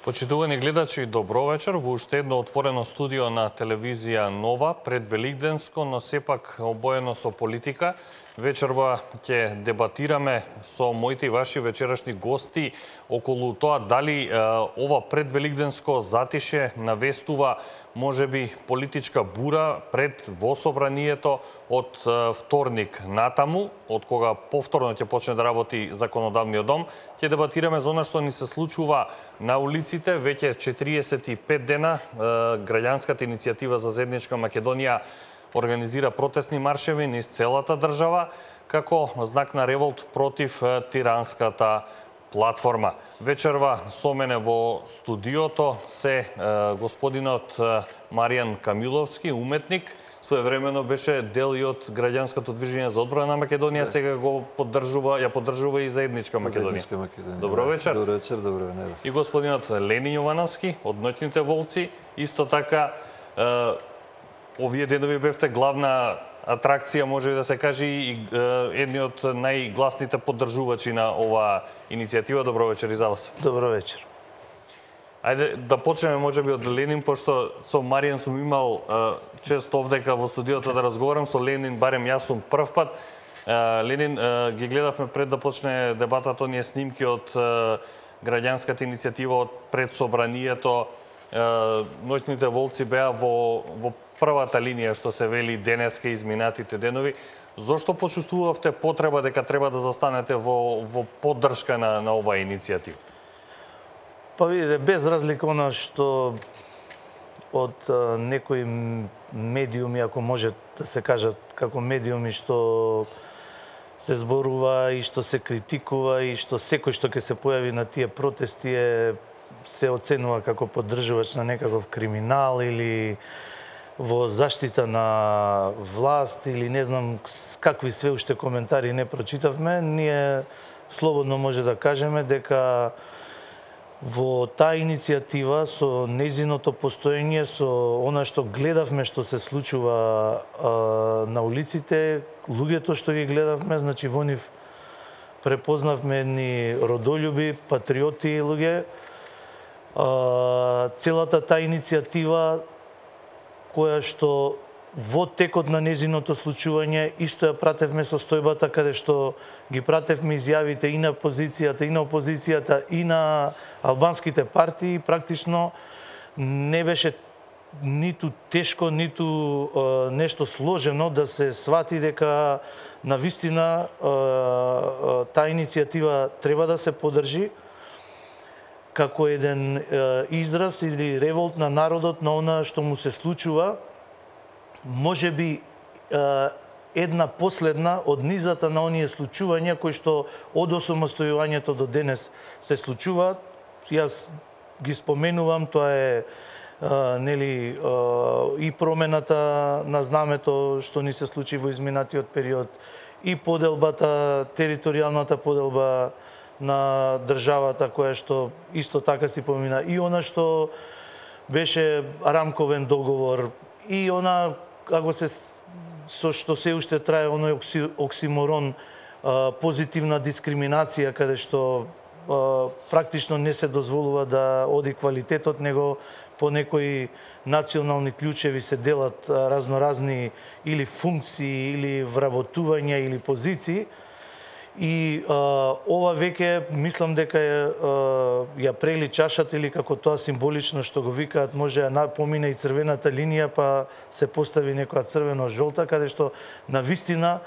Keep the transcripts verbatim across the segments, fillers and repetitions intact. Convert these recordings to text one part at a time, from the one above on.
Почитувани гледачи, добро вечер во уште едно отворено студио на телевизија Нова, пред Великденско, но сепак обоено со политика. Вечерва ќе дебатираме со моите и ваши вечерашни гости околу тоа дали е, ова предвеликденско затише навестува можеби политичка бура пред во собранието од е, вторник натаму, од кога повторно ќе почне да работи законодавниот дом. Ќе дебатираме за она што ни се случува на улиците. Веќе четириесет и пет дена е, граѓанската иницијатива за заедничка Македонија организира протестни маршеви низ целата држава, како знак на револт против тиранската платформа. Вечерва со мене во студиото се е, господинот Маријан Камиловски, уметник, своевремено беше дел и од граѓанското движење за одбрана на Македонија, сега го поддржува, ја поддржува и заедничка Македонија. Заедничка Македонија. Добро вечер. Добро вечер, добро вечер. И господинот Ленин Јовановски од Ноќните волци, исто така е, овие денови бевте главна атракција, може да се каже, и едни од најгласните поддржувачи на оваа иницијатива. Добро вечер и за вас. Добро вечер. Ајде да почнеме можеби од Ленин, пошто со Маријан сум имал е, често овдека во студиото да разговарам, со Ленин барем јас сум прв пат. Е, Ленин, е, ги гледавме пред да почне дебатата оние снимки од е, граѓанската иницијатива од пред собранието. Е, Ноќните волци беа во, во првата линија, што се вели денеска изминатите денови. Зошто почувствувавте потреба дека треба да застанете во, во поддршка на, на оваа иницијатива? Па видите, без разлика она што од а, некои медиуми, ако може да се кажат како медиуми, што се зборува и што се критикува и што секој што ќе се појави на тие протести е, се оценува како поддржувач на некаков криминал или во заштита на власт или не знам какви све уште коментари не прочитавме, ние слободно може да кажеме дека во таа иницијатива со нејзиното постоење, со она што гледавме што се случува а, на улиците, луѓето што ги гледавме, значи во нив препознавме едни родолюби, патриоти луѓе. А, целата таа иницијатива која што во текот на незиното случување исто ја пратевме состојбата каде што ги пратевме изјавите и на позицијата, и на опозицијата, и на албанските партии. Практично не беше ниту тешко, ниту е, нешто сложено да се свати дека навистина е, таа иницијатива треба да се поддржи како еден е, израз или револт на народот на она што му се случува, може би е, една последна од низата на оние случувања кои што од осамостојувањето до денес се случуваат. Јас ги споменувам, тоа е, е нели е, и промената на знамето што ни се случи во изминатиот период, и поделбата, територијалната поделба на државата која што исто така си помина, и она што беше рамковен договор, и она како се со што се уште трае оној окси, оксиморон а, позитивна дискриминација, каде што а, практично не се дозволува да оди квалитетот, него по некои национални клучеви се делат а, разноразни или функции, или вработувања, или позиции. И а, ова веќе мислам дека ја, ја прели чашата, или како тоа символично што го викаат, може ја помине и црвената линија, па се постави некоја црвено-жолта, каде што навистина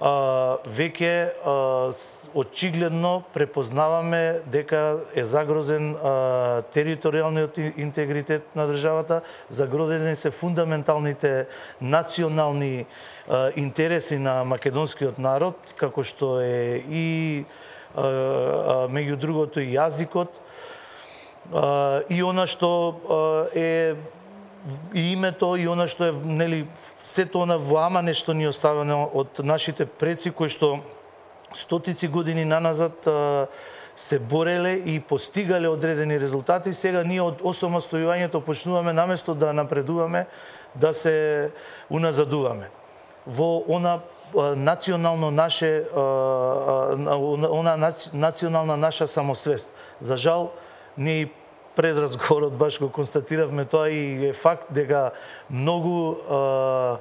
а, веќе а, очигледно препознаваме дека е загрозен а, територијалниот интегритет на државата, загрозени се фундаменталните национални а, интереси на македонскиот народ, како што е и а, а, меѓу другото и јазикот, а, и она што а, е и името, и она што е, нели, сето она вламане што ни оставено од нашите предци, кои што стотици години наназад а, се бореле и постигале одредени резултати. Сега ние од осамостојувањето почнуваме наместо да напредуваме, да се уназадуваме во она а, национално наше а, а, она национална наша самосвест. За жал, ние пред разговорот баш го констатиравме тоа и е факт дека многу а,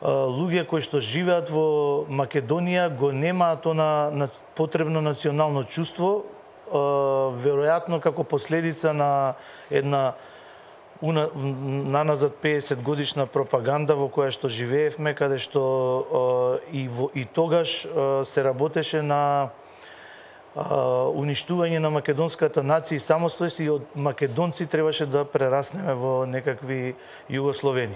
луѓе кои што живеат во Македонија го немаат она на потребно национално чувство, веројатно како последица на една наназад педесет годишна пропаганда во која што живеевме, каде што и, во, и тогаш се работеше на уништување на македонската нација и самостојност, и од македонци требаше да прераснеме во некакви југословени.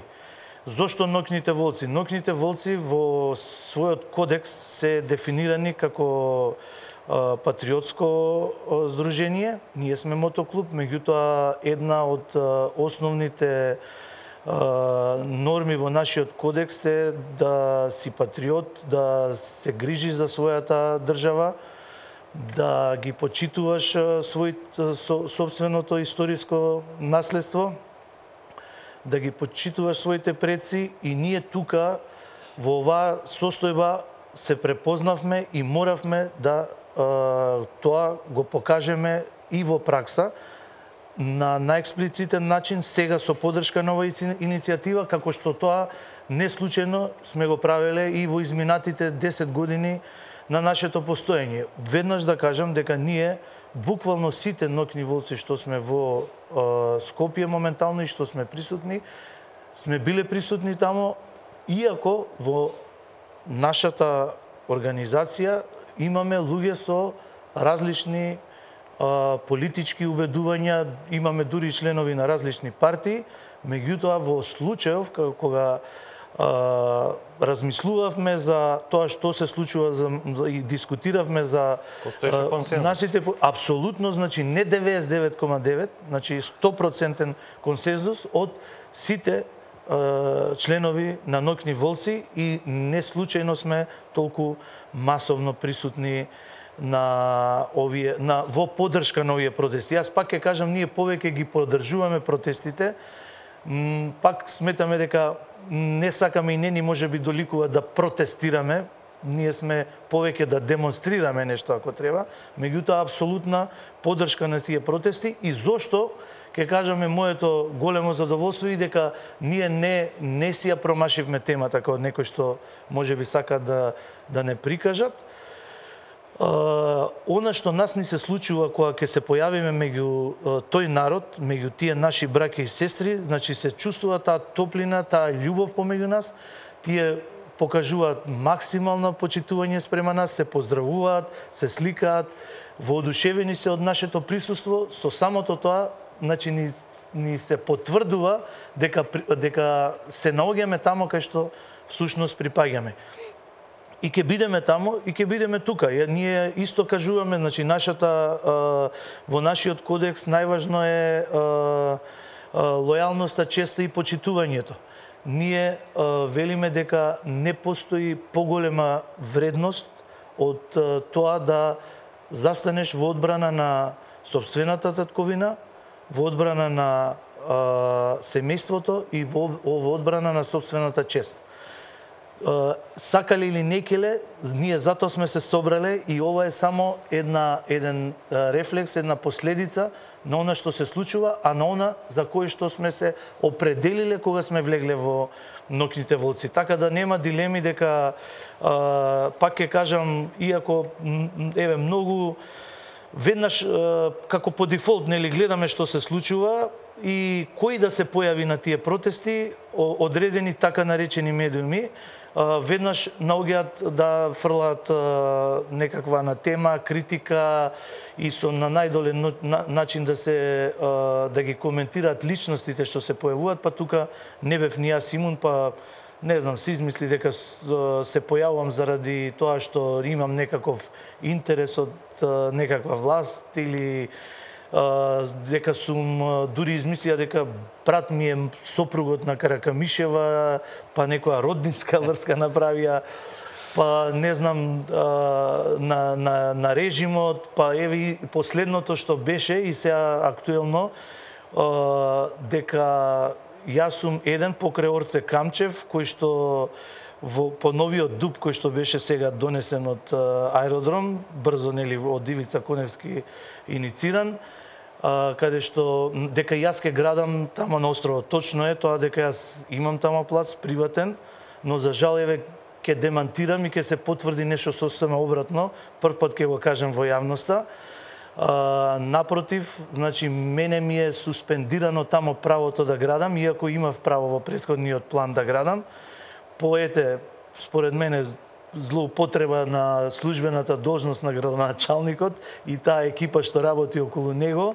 Зошто ноќните волци? Ноќните волци во својот кодекс се дефинирани како а, патриотско а, здружение. Ние сме мотоклуб, меѓутоа една од а, основните а, норми во нашиот кодекс е да си патриот, да се грижиш за својата држава, да ги почитуваш својот собственото историско наследство, да ги почитуваш своите предци, и ние тука во оваа состојба се препознавме и моравме да а, тоа го покажеме и во пракса на најексплицитен начин, сега со поддршка на оваа иницијатива, како што тоа не случајно сме го правеле и во изминатите десет години на нашето постоење. Веднаш да кажам дека ние буквално сите ноќни волци што сме во е, Скопје моментално и што сме присутни, сме биле присутни тамо, иако во нашата организација имаме луѓе со различни е, политички убедувања, имаме дури членови на различни партии, меѓутоа во случајов кога Uh, размислувавме за тоа што се случува за, за, и дискутиравме за постоеше консензус. Нашите апсолутно, значи не деветдесет и девет зарез девет, значи сто проценти консензус од сите uh, членови на ноќни волци, и не случајно сме толку масовно присутни на овие на во поддршка на овие протести. Јас пак ќе кажам, ние повеќе ги поддржуваме протестите. Пак сметаме дека не сакаме и не ни може би доликува да протестираме, ние сме повеќе да демонстрираме нешто ако треба, меѓутоа апсолутна поддршка на тие протести. И зошто ќе кажаме моето големо задоволство и дека ние не не си ја промашивме темата како некој што може би сака да да не прикажат. Uh, она што нас ни се случува кога ќе се појавиме меѓу uh, тој народ, меѓу тие наши браќа и сестри, значи се чувствува таа топлина, таа љубов помеѓу нас, тие покажуваат максимално почитување спрема нас, се поздравуваат, се сликаат, воодушевени се од нашето присуство. Со самото тоа, значи ни, ни се потврдува дека дека се наоѓаме тамо кај што всушност припаѓаме. И ќе бидеме тамо, и ќе бидеме тука. Ние исто кажуваме, значи нашата во нашиот кодекс најважно е лојалноста, честа и почитувањето. Ние велиме дека не постои поголема вредност од тоа да застанеш во одбрана на сопствената татковина, во одбрана на семејството и во, во одбрана на сопствената чест. Сакале или некеле, ние затоа сме се собрале, и ова е само една еден рефлекс, една последица на она што се случува, а на она за кое што сме се определиле кога сме влегле во ноќните волци. Така да нема дилеми дека а, пак ќе кажам, иако еве многу веднаш како по дефолт нели гледаме што се случува и кои да се појави на тие протести, одредени така наречени медиуми веднаш наоѓаат да фрлаат некаква на тема, критика и со на најдолен начин да се да ги коментираат личностите што се појавуваат, па тука не бев ни јас имун, па не знам, се измисли дека се појавувам заради тоа што имам некаков интерес од некаква власт или дека сум дури измислија дека брат ми е сопругот на Каракамишева, па некоја роднинска врска направија, па не знам на, на, на режимот, па еве и последното што беше и сега актуелно, дека јас сум еден покрај Орце Камчев, кој што во по новиот дуб кој што беше сега донесен од аеродром, брзо нели од Ивица Коневски инициран, а, каде што дека јас ке градам тама на островот. Точно е тоа дека јас имам тама плац приватен, но за жал еве ке демантирам и ке се потврди нешто сосема обратно. Прв пат ке го кажем во јавноста. А, напротив, значи мене ми е суспендирано тамо правото да градам, иако имав право во претходниот план да градам. Поете, според мене, злоупотреба на службената должност на градоначалникот и таа екипа што работи околу него,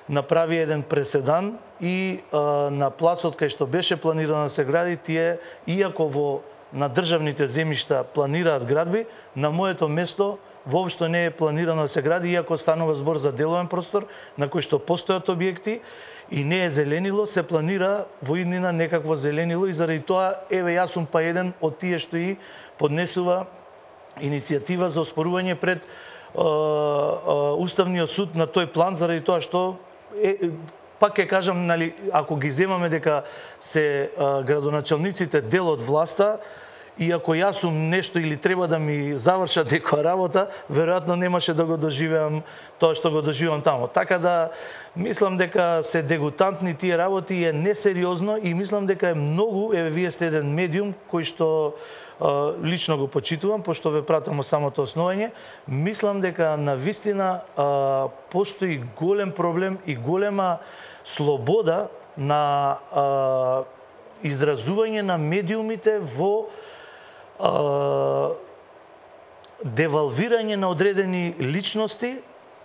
направи еден преседан и а, на плацот кај што беше планирано да се гради, тие, иако во на државните земјишта планираат градби, на моето место воопшто не е планирано да се гради, иако станува збор за деловен простор на кој што постојат објекти и не е зеленило, се планира во иднина некакво зеленило и заради тоа, еве јас сум па еден од тие што и поднесува иницијатива за оспорување пред а, а, Уставниот суд на тој план, заради тоа што е, пак ќе кажам, нали, ако ги земаме дека се а, градоначалниците дел од власта, и ако јас сум нешто или треба да ми завршат некоја работа, веројатно немаше да го доживеам тоа што го доживам тамо. Така да мислам дека се дегутантни тие работи и е несериозно и мислам дека е многу, еве вие сте еден медиум кој што а, лично го почитувам, пошто ве пратам од самото основање, мислам дека на вистина а, постои голем проблем и голема слобода на а, изразување на медиумите во девалвирање на одредени личности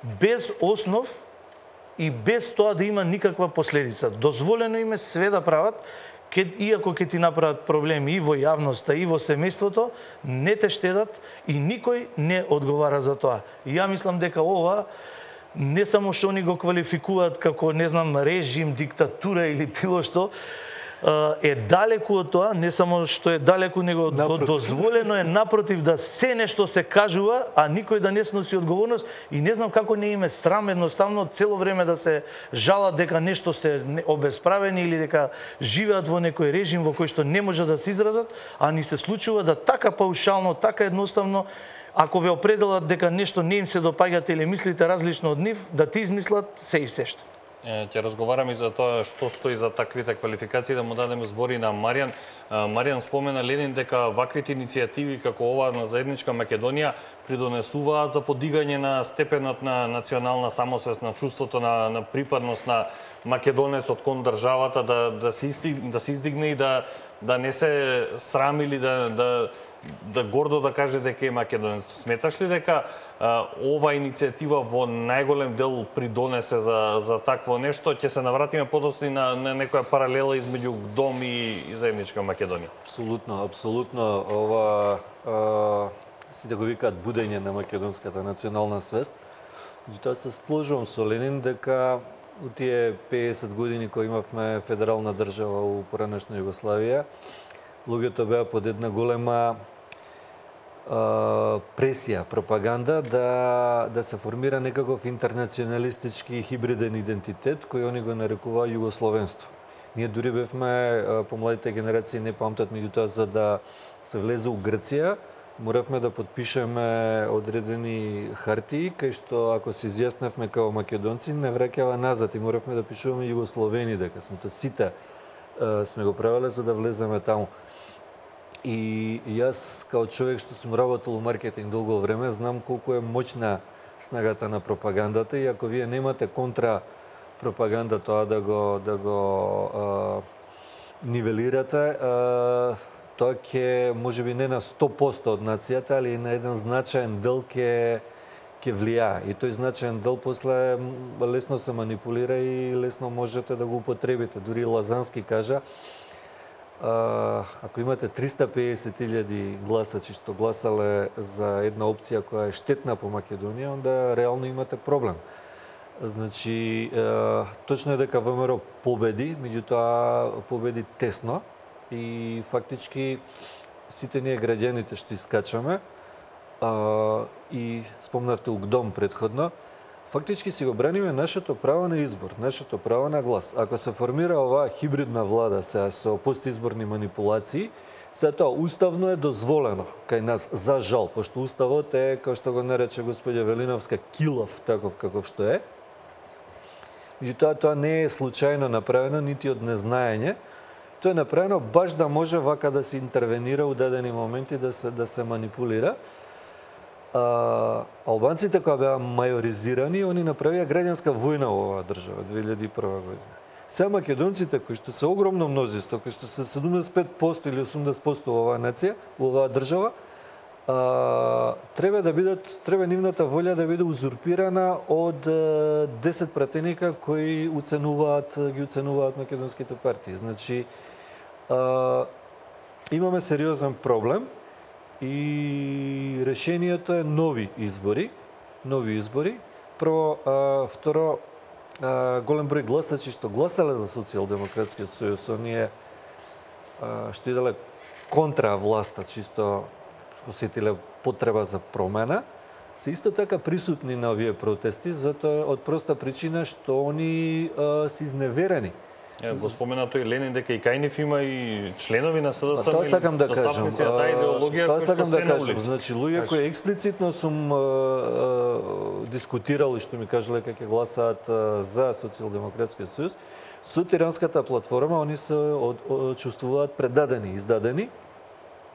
без основ и без тоа да има никаква последица. Дозволено им е све да прават, ке, иако ќе ти направат проблеми и во јавноста, и во семејството, не те штедат и никој не одговара за тоа. И ја мислам дека ова не само што они го квалификуваат како, не знам, режим, диктатура или било што, е далеку од тоа, не само што е далеку, него напротив. Дозволено е напротив да се нешто се кажува, а никој да не сноси одговорност и не знам како не им е срам едноставно цело време да се жалат дека нешто се обесправени или дека живеат во некој режим во кој што не може да се изразат, а ни се случува да така паушално, така едноставно, ако ве определат дека нешто не им се допаѓате или мислите различно од нив, да ти измислат се и се што. Ќе разговараме и за тоа што стои за таквите квалификации, да му дадеме збори на Маријан. Маријан спомена Ленин дека ваквите иницијативи како ова на заедничка Македонија придонесуваат за подигање на степенот на национална самосвест, на чувството на, на припадност на македонецот кон државата, да, да, се, истиг, да се издигне и да, да не се срами или да, да, да гордо да каже дека е македонец. Сметаш ли дека а, ова иницијатива во најголем дел придонесе за, за такво нешто? Ќе се навратиме подоцна на, на некоја паралела измеѓу ДОМ и, и заедничка Македонија? Апсолутно, апсолутно. Ова, а, сите го викаат будење на македонската национална свест. Тоа се сложувам со Ленин дека у тие пеесет години кои имавме федерална држава у поранешна Југославија, луѓето беа под една голема пресија, пропаганда да да се формира некаков интернационалистички хибриден идентитет кој они го нарекуваа југословенство. Ние дури бевме, помладите генерации не памтат, меѓутоа за да се влезе у Грција, моравме да подпишеме одредени хартии кај што ако се изјасневме како македонци не враќава назад и моравме да пишуваме југословени дека сме тоа сите сме го правеле за да влеземе таму. И јас, као човек што сум работел у маркетинг долго време, знам колку е моќна снагата на пропагандата и ако вие немате контра пропаганда тоа да го, да го а, нивелирате, а, тоа ќе, можеби не на сто посто од нацијата, али на еден значаен дел ќе ќе влијае. И тој значаен дел после лесно се манипулира и лесно можете да го употребите. Дури Лазански кажа, Uh, ако имате триста пеесет илјади гласачи што гласале за една опција која е штетна по Македонија, онда реално имате проблем. Значи, uh, точно е дека ВМРО победи, меѓутоа победи тесно и фактички сите ние граѓаните што искачаме uh, и спомнавте УГДОМ претходно, фактички си го браниме нашето право на избор, нашето право на глас. Ако се формира оваа хибридна влада се со постизборни манипулации, се тоа уставно е дозволено кај нас, за жал, пошто уставот е, како што го нарече господја Велиновска, килав, таков каков што е. Меѓутоа, тоа не е случајно направено, нити од незнаење. Тоа е направено баш да може вака да се интервенира у дадени моменти, да се, да се манипулира. А, албанците кои беа мајоризирани, они направија граѓанска војна во оваа држава две илјади и прва година. Сега македонците кои што се огромно мнозинство, кои што се седумдесет и пет проценти или осумдесет проценти во оваа нација, во оваа држава, а, треба да бидат, треба нивната волја да биде узурпирана од десет пратеника кои уценуваат, ги уценуваат македонските партии. Значи, а, имаме сериозен проблем. И решението е нови избори, нови избори. Прво, а, второ, а, голем број гласачи што гласале за Социјалдемократскиот сојуз, оние а, што иделе контра власта, чисто осетиле потреба за промена, се исто така присутни на овие протести, затоа од проста причина што они а, се изневерени. Е, го спомена тој Ленин дека и кај нив има и членови на СДСМ. Тоа сакам да кажам. Застапници на таа идеологија Тоа кои што сакам се да на кажам. улица. Значи луѓе кои експлицитно сум а, а, дискутирал и што ми кажале дека ќе гласаат а, за Социјалдемократскиот сојуз, со Тиранската платформа они се од, од, чувствуваат предадени, издадени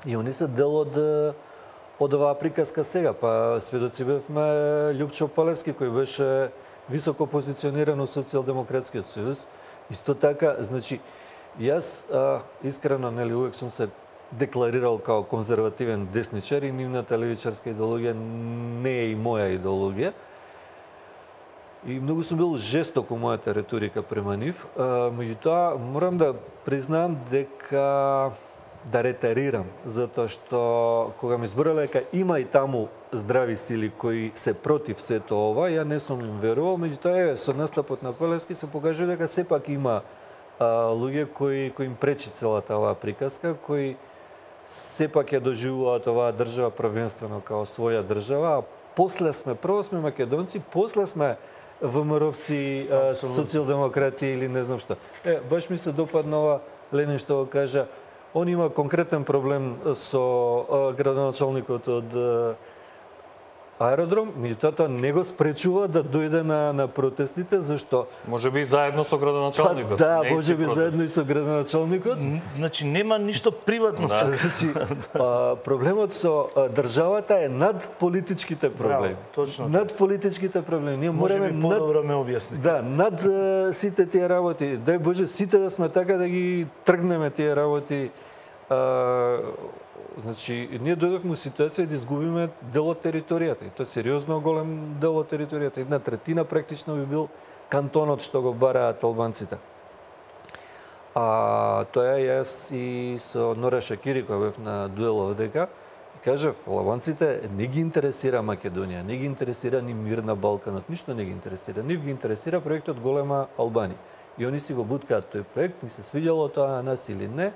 и они се дел од од оваа приказка сега. Па сведоци бевме Љупчо Палевски кој беше високо позициониран од Социјалдемократскиот сојуз. Исто така, значи, јас а, искрено, нели, увек сум се декларирал као конзервативен десничар и нивната левичарска идеологија не е и моја идеологија. И многу сум бил жесток у мојата реторика према нив. А, меѓутоа, морам да признам дека да ретарирам, затоа што кога ми збореле дека има и таму здрави сили кои се против сето ова, ја не сум им верувал, меѓутоа со настапот на Палевски се покажува дека сепак има а, луѓе кои кои им пречи целата оваа приказка, кои сепак ја доживуваат оваа држава првенствено као своја држава, а после сме, прво сме македонци, после сме ВМРО-вци, социјалдемократи или не знам што. Е, баш ми се допадна ова Ленин што го кажа. Он има конкретен проблем со а, градоначалникот од а, аеродром, меѓутоа тоа не го спречува да дојде на, на протестите, зашто... Може би заедно со градоначалникот. Па, да, може би заедно и со градоначалникот. Значи, нема ништо приватно. Да. Значи, а, проблемот со а, државата е над политичките проблеми. Браво, точно. Над политичките проблеми. Ние Може мораме би подобро ме објасни. Да, над а, сите тие работи. Дај Боже, сите да сме така да ги тргнеме тие работи. А, значи, ние дојдовме у ситуација да изгубиме дел од територијата. И тоа е сериозно голем дел од територијата. Една третина практично би бил кантонот што го бараат албанците. А тоа јас и со Нора Шакири, која бев на дуел овдека, кажав, албанците не ги интересира Македонија, не ги интересира ни мир на Балканот, ништо не ги интересира. Нив ги интересира проектот Голема Албанија. И они си го буткаат тој проект, ни се свиѓало тоа на нас или не,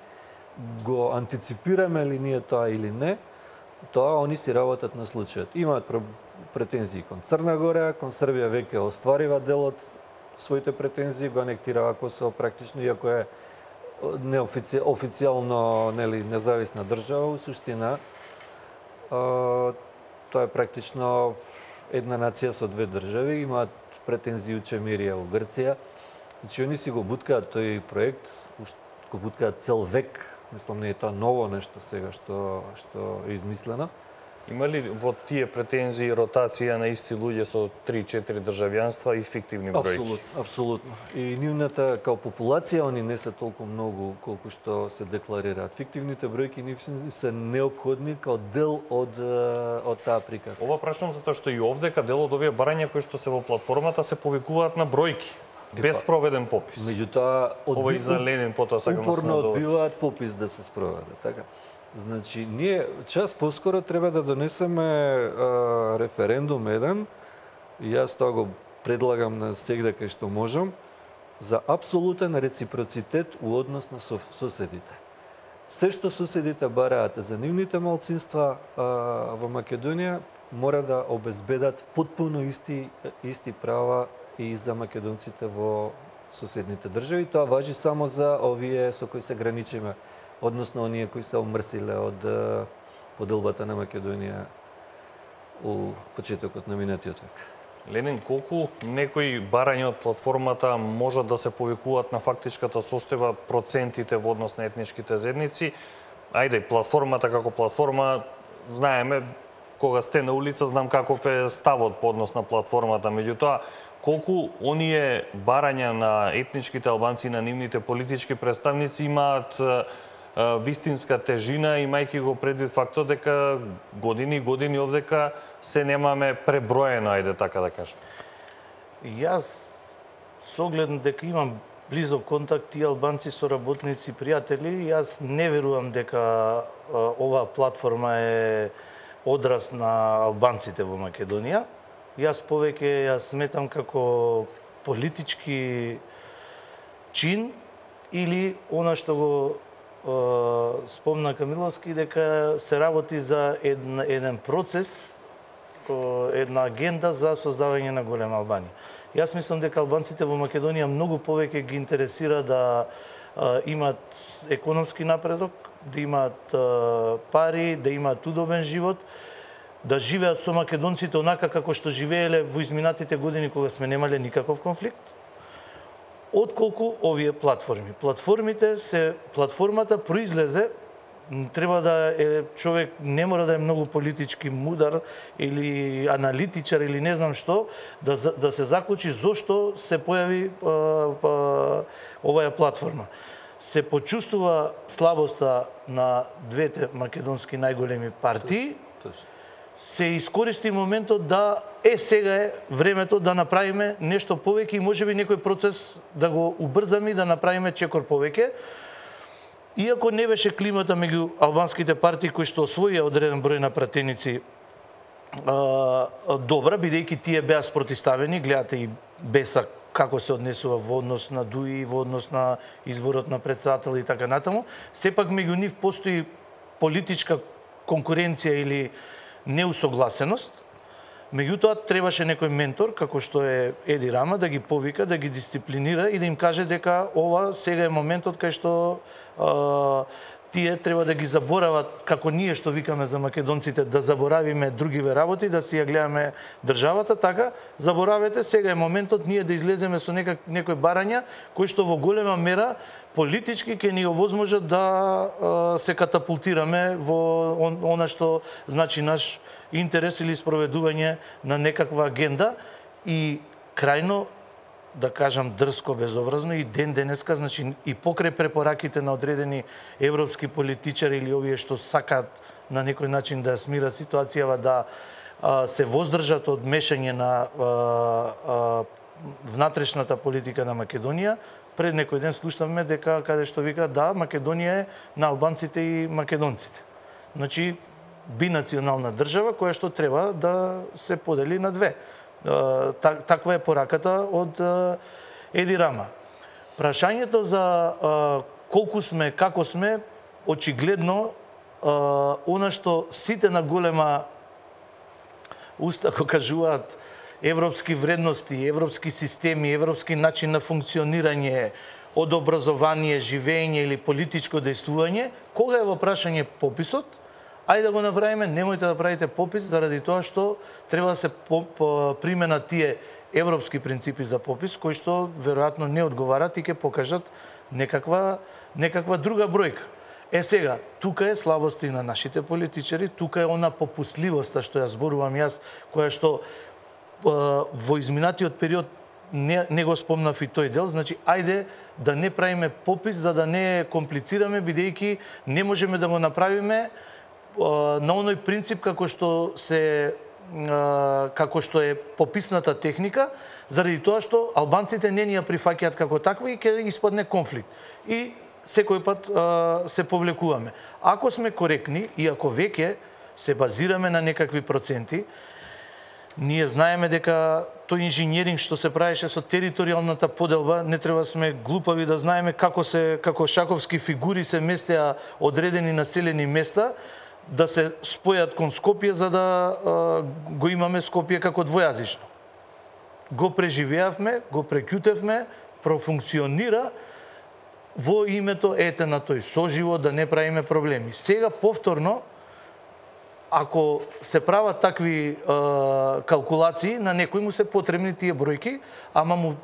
го антиципираме ли ние тоа или не, тоа они си работат на случајот. Имаат претензии кон Црна Гора, кон Србија веќе остварива дел од своите претензии, го анектирава Косово практично, иако е неофици... официјално нели, независна држава, у суштина тоа е практично една нација со две држави, имаат претензии учемирија у Грција. Значи, они си го буткаат тој проект, го буткаат цел век. Мислам, не е тоа ново нешто сега што што е измислено. Има ли во тие претензии ротација на исти луѓе со три-четири државјанства и фиктивни бројки? Апсолутно, апсолутно. И нивната као популација они не се толку многу колку што се декларираат. Фиктивните бројки нив се неопходни као дел од од таа приказка. Ова прашувам затоа што и овдека дел од овие барања кои што се во платформата се повикуваат на бројки. Без проведен попис. Меѓутоа, Ова и за Ленин потоа сакам да се упорно надовршам. одбиваат попис да се спроведе, така. Значи, ние час поскоро треба да донесеме а, референдум еден, и јас тоа го предлагам на сегде кај што можам, за апсолутен реципроцитет у однос на соседите. Се што соседите бараат за нивните малцинства а, во Македонија, мора да обезбедат потпуно исти, исти права и за македонците во соседните држави. Тоа важи само за овие со кои се граничиме, односно оние кои се омрсиле од поделбата на Македонија у почетокот на минатиот век. Ленин, колку некои барања од платформата можат да се повикуваат на фактичката состојба процентите во однос на етничките заедници? Ајде, платформата како платформа, знаеме, кога сте на улица, знам каков е ставот по однос на платформата, меѓутоа, колку оние барања на етничките албанци и на нивните политички представници имаат вистинска тежина, имајќи го предвид фактот дека години и години овдека се немаме преброено, ајде така да кажем. Јас, со оглед дека имам близок контакт и албанци, соработници, пријатели, јас не верувам дека оваа платформа е одраз на албанците во Македонија. Јас повеќе ја сметам како политички чин или она што го спомна Камиловски, дека се работи за еден, еден процес, една агенда за создавање на голема Албанија. Јас мислам дека албанците во Македонија многу повеќе ги интересира да имат економски напредок, да имат пари, да имат удобен живот, да живеат со македонците онака како што живееле во изминатите години кога сме немале никаков конфликт, отколку овие платформи. Платформите се платформата произлезе, треба да е човек, не мора да е многу политички мудар или аналитичар или не знам што, да да се заклучи зошто се појави а, а, оваа платформа. Се почувствува слабоста на двете македонски најголеми партии. Се искористи моментот да е сега е времето да направиме нешто повеќе и можеби некој процес да го убрзаме и да направиме чекор повеќе. Иако не беше климата меѓу албанските партии кои што освоија одреден број на пратеници а, добра, бидејќи тие беа спротиставени, гледате и Беса како се однесува во однос на Дуи, во однос на изборот на председател и така натаму, сепак меѓу нив постои политичка конкуренција или неусогласеност. Меѓутоа требаше некој ментор, како што е Еди Рама, да ги повика, да ги дисциплинира и да им каже дека ова сега е моментот кај што а, тие треба да ги заборават, како ние што викаме за македонците, да заборавиме другиве работи, да си ја гледаме државата, така заборавете, сега е моментот ние да излеземе со некак, некој барања кои што во голема мера политички ќе ни овозможат да а, се катапултираме во он, она што значи наш интерес или спроведување на некаква агенда и крајно, да кажам дрско, безобразно, и ден денеска, значи и покрај препораките на одредени европски политичари или овие што сакаат на некој начин да смират ситуацијава, да а, се воздржат од мешање на а, а, внатрешната политика на Македонија. Пред некој ден слушнавме дека каде што вика да, Македонија е на албанците и македонците. Значи бинационална држава која што треба да се подели на две. Таква е пораката од Еди Рама. Прашањето за колку сме, како сме, очигледно она што сите на голема уста го кажуваат европски вредности, европски системи, европски начин на функционирање, од образование, живење или политичко дејствување, кога е во прашање пописот, ајде да го направиме, немојте да правите попис заради тоа што треба да се применат тие европски принципи за попис, кои што веројатно не одговарат и ќе покажат некаква, некаква друга бројка. Е сега, тука е слабоста и на нашите политичари, тука е она попусливоста што ја зборувам јас, која што во изминатиот период не, не го спомнав и тој дел, значи ајде да не правиме попис за да не комплицираме, бидејќи не можеме да го направиме на оној принцип како што се како што е пописната техника, заради тоа што албанците не ни ја прифаќаат како таква и ќе испадне конфликт. И секој пат а, се повлекуваме. Ако сме коректни и ако веќе се базираме на некакви проценти, ние знаеме дека тој инженеринг што се правеше со територијалната поделба, не треба сме глупави да знаеме како се како шаковски фигури се местеа одредени населени места, да се спојат кон Скопје за да а, го имаме Скопје како двојазично. Го преживеавме, го прекјутевме, профункционира во името ете на тој соживот, да не правиме проблеми. Сега повторно ако се прават такви а, калкулации, на некој му се потребни тие бројки, ама му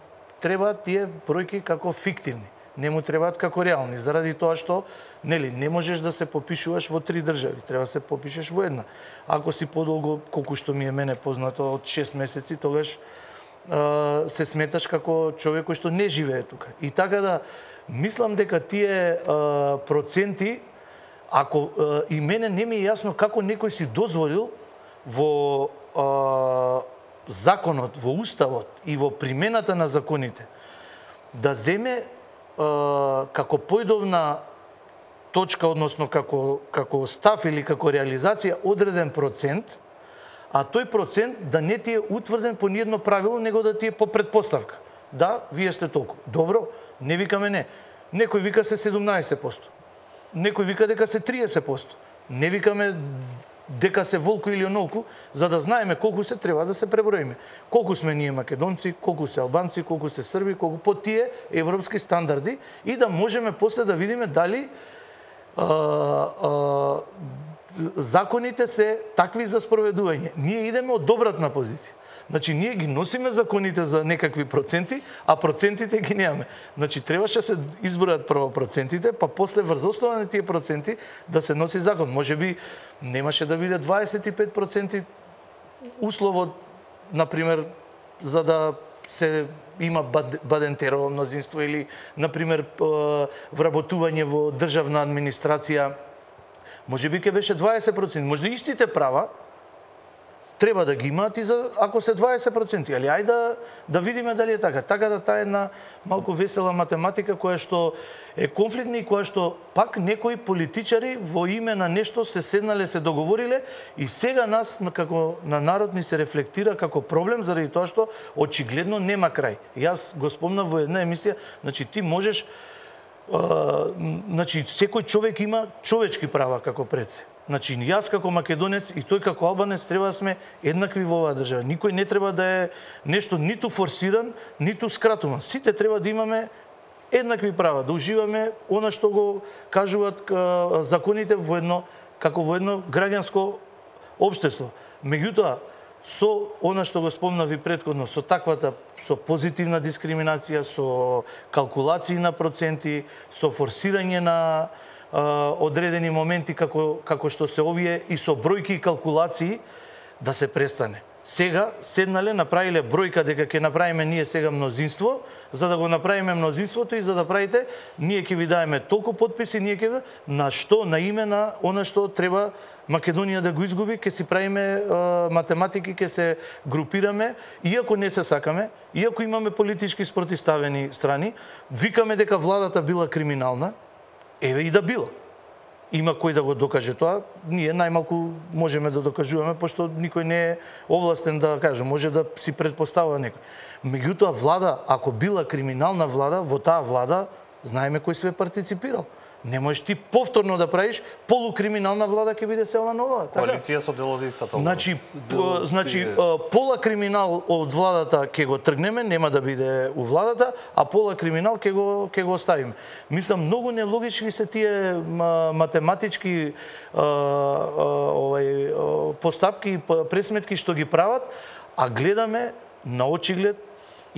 требаат тие бројки како фиктивни. Не му требаат како реални, заради тоа што нели не можеш да се попишуваш во три држави, треба да се попишеш во една. Ако си подолго, колку што ми е мене познато, од шест месеци, тогаш а, се сметаш како човек кој што не живее тука. И така да мислам дека тие а, проценти, ако а, и мене не ми е јасно како некој си дозволил во а, законот, во уставот и во примената на законите да земе а, како појдовна точка, односно како како став или како реализација одреден процент, а тој процент да не ти е утврден по ниедно правило, него да ти е по предпоставка. Да, вие сте толку. Добро, не викаме не. Некој вика се седумнаесет проценти. Некој вика дека се триесет проценти. Не викаме дека се волку или онолку, за да знаеме колку се треба да се преброиме. Колку сме ние македонци, колку се албанци, колку се срби, колку по тие европски стандарди и да можеме после да видиме дали а, а, законите се такви за спроведување. Ние идеме од добратна позиција. Значи, ние ги носиме законите за некакви проценти, а процентите ги немаме. Значи, требаше се избројат прво процентите, па после врз основа на тие проценти да се носи закон. Може би немаше да биде дваесет и пет проценти условот, например, за да се има бадентерово мнозинство или, например, вработување во државна администрација. Може би ке беше дваесет проценти. Може да истите права треба да ги имаат и за ако се дваесет проценти, али ајде да, да видиме дали е така. Така да таа е една малку весела математика која што е конфликтна и која што пак некои политичари во име на нешто се седнале, се договориле и сега нас како на народ ни се рефлектира како проблем заради тоа што очигледно нема крај. Јас го спомнав во една емисија, значи ти можеш а, значи секој човек има човечки права како пред се. Значи, јас како македонец и тој како албанец треба да сме еднакви во оваа држава. Никој не треба да е нешто ниту форсиран, ниту скратуван. Сите треба да имаме еднакви права, да уживаме она што го кажуваат законите во едно, како во едно граѓанско општество. Меѓутоа, со она што го спомнав и претходно, со таквата, со позитивна дискриминација, со калкулации на проценти, со форсирање на одредени моменти како како што се овие и со бројки и калкулации да се престане. Сега седнале, направиле бројка дека ќе направиме ние сега мнозинство, за да го направиме мнозинството и за да правите, ние ќе ви даеме толку потписи, ние ќе на што, на име на она што треба Македонија да го изгуби, ќе си правиме а, математики, ќе се групираме, иако не се сакаме, иако имаме политички спротивставени страни, викаме дека владата била криминална. Еве и да била. Има кој да го докаже тоа, ние најмалку можеме да докажуваме, пошто никој не е овластен да каже, може да си предпоставува некој. Меѓутоа, влада, ако била криминална влада, во таа влада знаеме кој све партиципирал. Не можеш ти повторно да правиш полукриминална влада, ќе биде села нова. Коалиција со дел од истата. Значи, по, значи пола криминал од владата ќе го тргнеме, нема да биде у владата, а пола криминал ќе го ќе го оставиме. Мислам, многу нелогични се тие математички а, а, овај постапки и пресметки што ги прават, а гледаме на очиглед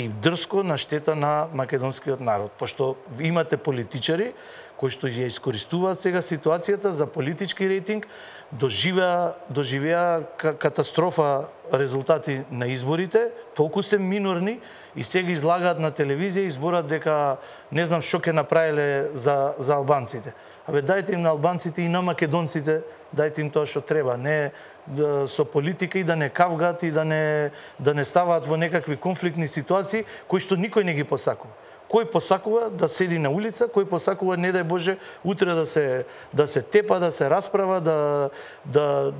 и дрско на штета на македонскиот народ, пошто имате политичари кои што ја искористуваат сега ситуацијата за политички рейтинг, доживеа доживеа катастрофа резултати на изборите, толку се минорни и сега излагаат на телевизија и зборат дека не знам што ќе направиле за за албанците. Абе дајте им на албанците и на македонците, дајте им тоа што треба, не да, со политика и да не кавгат и да не да не ставаат во некакви конфликтни ситуации кои што никој не ги посакува. Кој посакува да седи на улица, кој посакува, не дај Боже, утре да се да се тепа, да се расправа, да да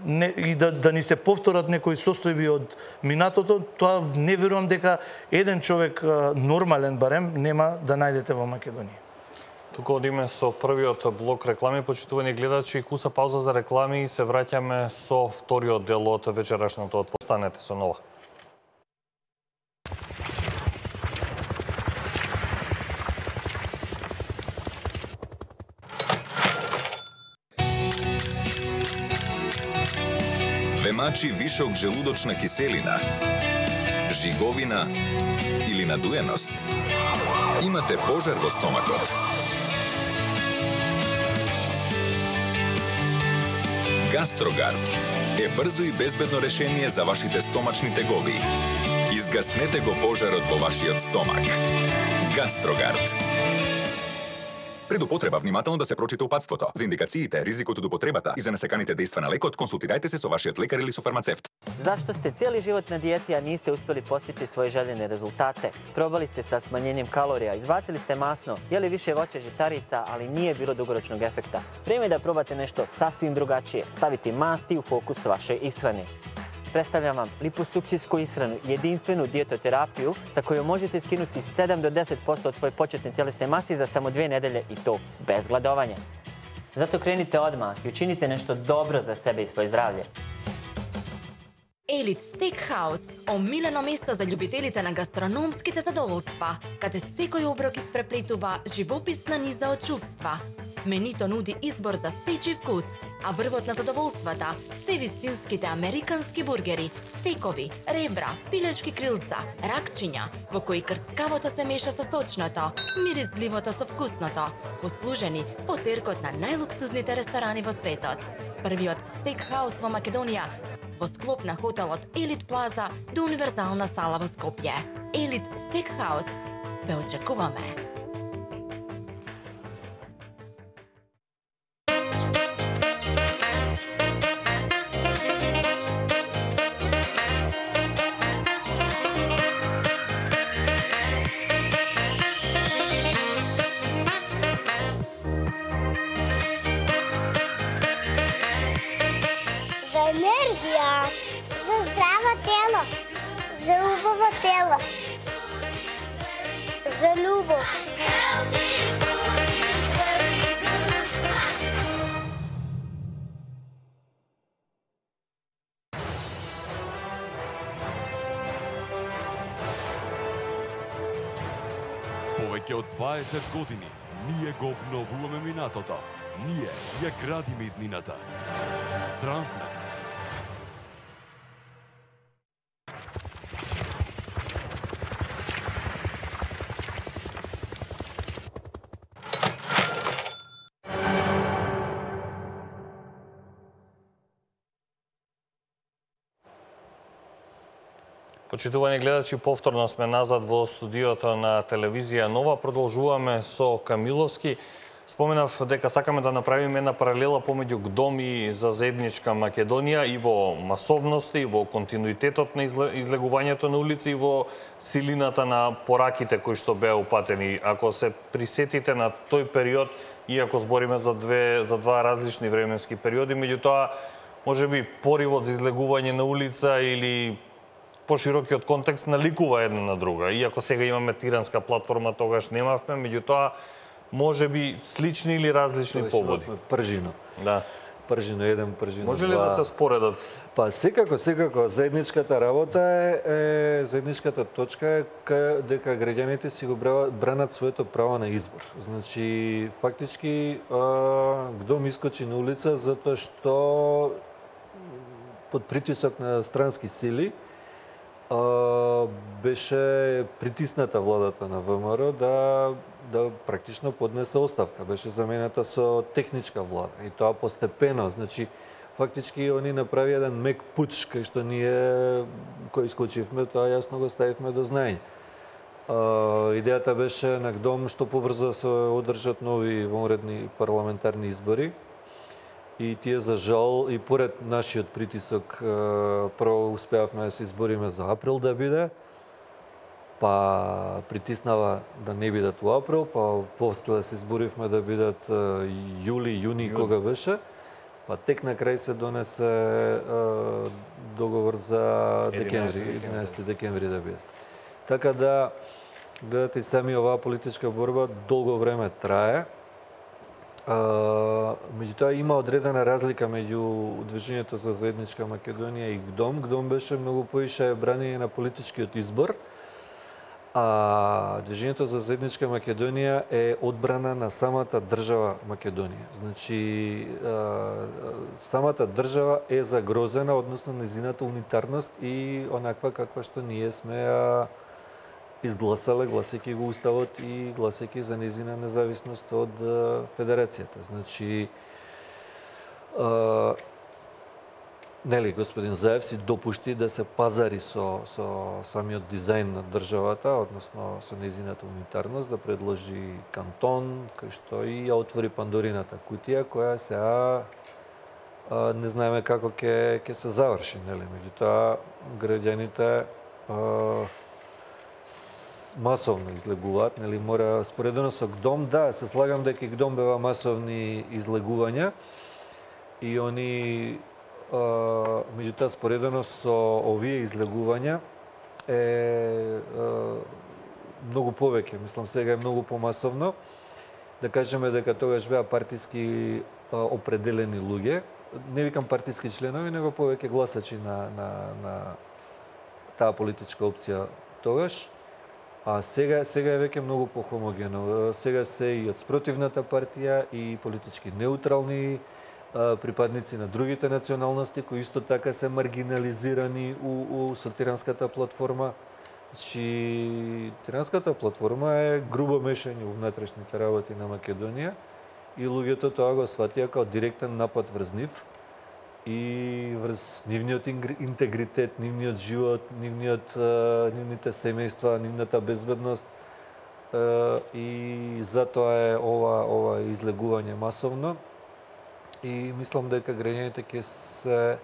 не, и да да ни се повторат некои состојби од минатото, тоа не верувам дека еден човек нормален барем нема да најдете во Македонија. Тука одиме со првиот блок реклами, почитувани гледачи, куса пауза за реклами и се враќаме со вториот дел од вечерашното отвор. Останете со Нова. влачи вишок желудочна киселина, жиговина или надуеност? Имате пожар во стомакот? Гастрогард е брзо и безбедно решение за вашите стомачни тегови. Изгаснете го пожарот во вашиот стомак. Гастрогард. Пред употреба внимателно да се прочита упатството. За индикациите, ризикот од употребата и за несаканите дејства на лекот, консултирајте се со вашиот лекар или со фармацевт. Зашто сте цели живот на дијети, а нисте успели постичи своји желени резултате? Пробали сте sa smanjenjem kalorija, izbacili ste masno, jeli više voća žitarica, ali nije bilo dugoročnog efekta. Vrijeme je da probate nešto sasvim drugačije, staviti masti u fokus vaše ishrane. Predstavljam vam liposukcijsku ishranu, jedinstvenu dijetoterapiju sa kojom možete skinuti sedam do deset posto od svoje početne tjelesne mase za samo dvije nedelje i to bez gladovanja. Zato krenite odmah i učinite nešto dobro za sebe i svoje zdravlje. Елит Стейкхаус, омилено место за љубителите на гастрономските задоволства, каде секој оброк испреплетува живописна низа од чувства. Менито нуди избор за сечи вкус, а врвот на задоволствата се вистинските американски бургери, стекови, ребра, пилешки крилца, ракчиња, во кои крцкавото се меша со сочното, миризливото со вкусното, послужени по теркот на најлуксузните ресторани во светот. Првиот стейкхаус во Македонија, во склоп на хотелот Елит Плаза до универзална сала во Скопје. Елит Стейкхаус. Ве очекуваме! За љубов. Повеќе од дваесет години ние го обновуваме минатото. Ние ја градиме иднината. Трансмет. Почитувани гледачи, повторно сме назад во студиото на телевизија Нова. Продолжуваме со Камиловски. Споменав дека сакаме да направиме една паралела помеѓу ГДОМ и за заедничка Македонија и во масовноста, и во континуитетот на излегувањето на улици, и во силината на пораките кои што беа упатени. Ако се присетите на тој период, иако збориме за две за два различни временски периоди, меѓутоа можеби поривот за излегување на улица или поширокиот контекст наликува една на друга. Иако сега имаме тиранска платформа, тогаш немавме, меѓутоа можеби слични или различни побуди. Пржино. Да. Пржино еден, пржино два. Може ли да се споредат? Па секако, секако. Заедничката работа е, е заедничката точка е ка, дека граѓаните си го бранат своето право на избор. Значи, фактички, ГДОМ искочи на улица затоа што под притисок на странски сили беше притисната владата на ВМРО да да практично поднесе оставка. Беше замената со техничка влада и тоа постепено. Значи, фактички они направи еден мек пуч кај што ние кој искочивме, тоа јасно го ставивме до знаење. Идејата беше на ГДОМ што побрзо се одржат нови вонредни парламентарни избори. И тие за жал и поред нашиот притисок прво успеавме да се избориме за април да биде, па притиснава да не бидат во април, па после се изборивме да бидат јули, јуни, кога беше, па тек на крај се донесе договор за декември, единаесети декември да бидат. Така да, гледате, сами оваа политичка борба долго време трае. Uh, меѓутоа има одредена разлика меѓу Движењето за заедничка Македонија и ГДОМ. ГДОМ беше многу поише брање на политичкиот избор, А Движењето за заедничка Македонија е одбрана на самата држава Македонија. Значи, самата држава е загрозена, односно незината унитарност и онаква каква што ние сме ја изгласале, гласејќи го уставот и гласејќи за незина независност од Федерацијата. Значи, нели, господин Заев си допушти да се пазари со, со самиот дизајн на државата, односно со незината унитарност, да предложи кантон, кај што и ја отвори Пандорината кутија, која сега не знаеме како ќе ќе се заврши, нели? Меѓутоа, граѓаните масовно излегуваат, нели, мора споредено со ГДОМ, да, се слагам дека и ГДОМ бева масовни излегувања и они меѓутоа споредено со овие излегувања е многу повеќе, мислам сега е многу помасовно. Да кажеме дека тогаш беа партиски определени луѓе, не викам партиски членови, него повеќе гласачи на на на таа политичка опција тогаш. А сега сега е веќе многу похомогено. Сега се и од спротивната партија и политички неутрални припадници на другите националности кои исто така се маргинализирани у, у со Тиранската платформа. Значи, Тиранската платформа е грубо мешање во внатрешните работи на Македонија и луѓето тоа го сватија како директен напад врз нив и врз нивниот интегритет, нивниот живот, нивниот, нивните семејства, нивната безбедност и затоа е ова, ова излегување масовно. И мислам дека граѓаните ќе се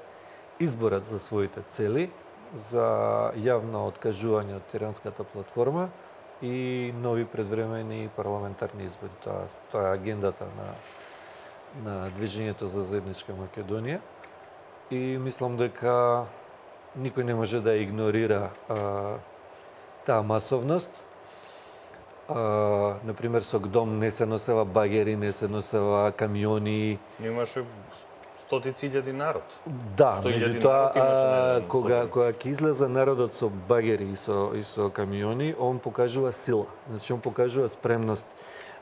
изборат за своите цели, за јавно откажување од Тиранската платформа и нови предвремени парламентарни избори. Тоа, тоа е агендата на, на Движењето за заедничка Македонија. И мислам дека никој не може да игнорира а, таа масовност. Uh, например, со ГДОМ не се носева багери, не се носева камиони. Имаше стотици илјади народ. Да, меѓутоа, кога, кога ќе излезе народот со багери и со, и со камиони, он покажува сила. Значи, он покажува спремност.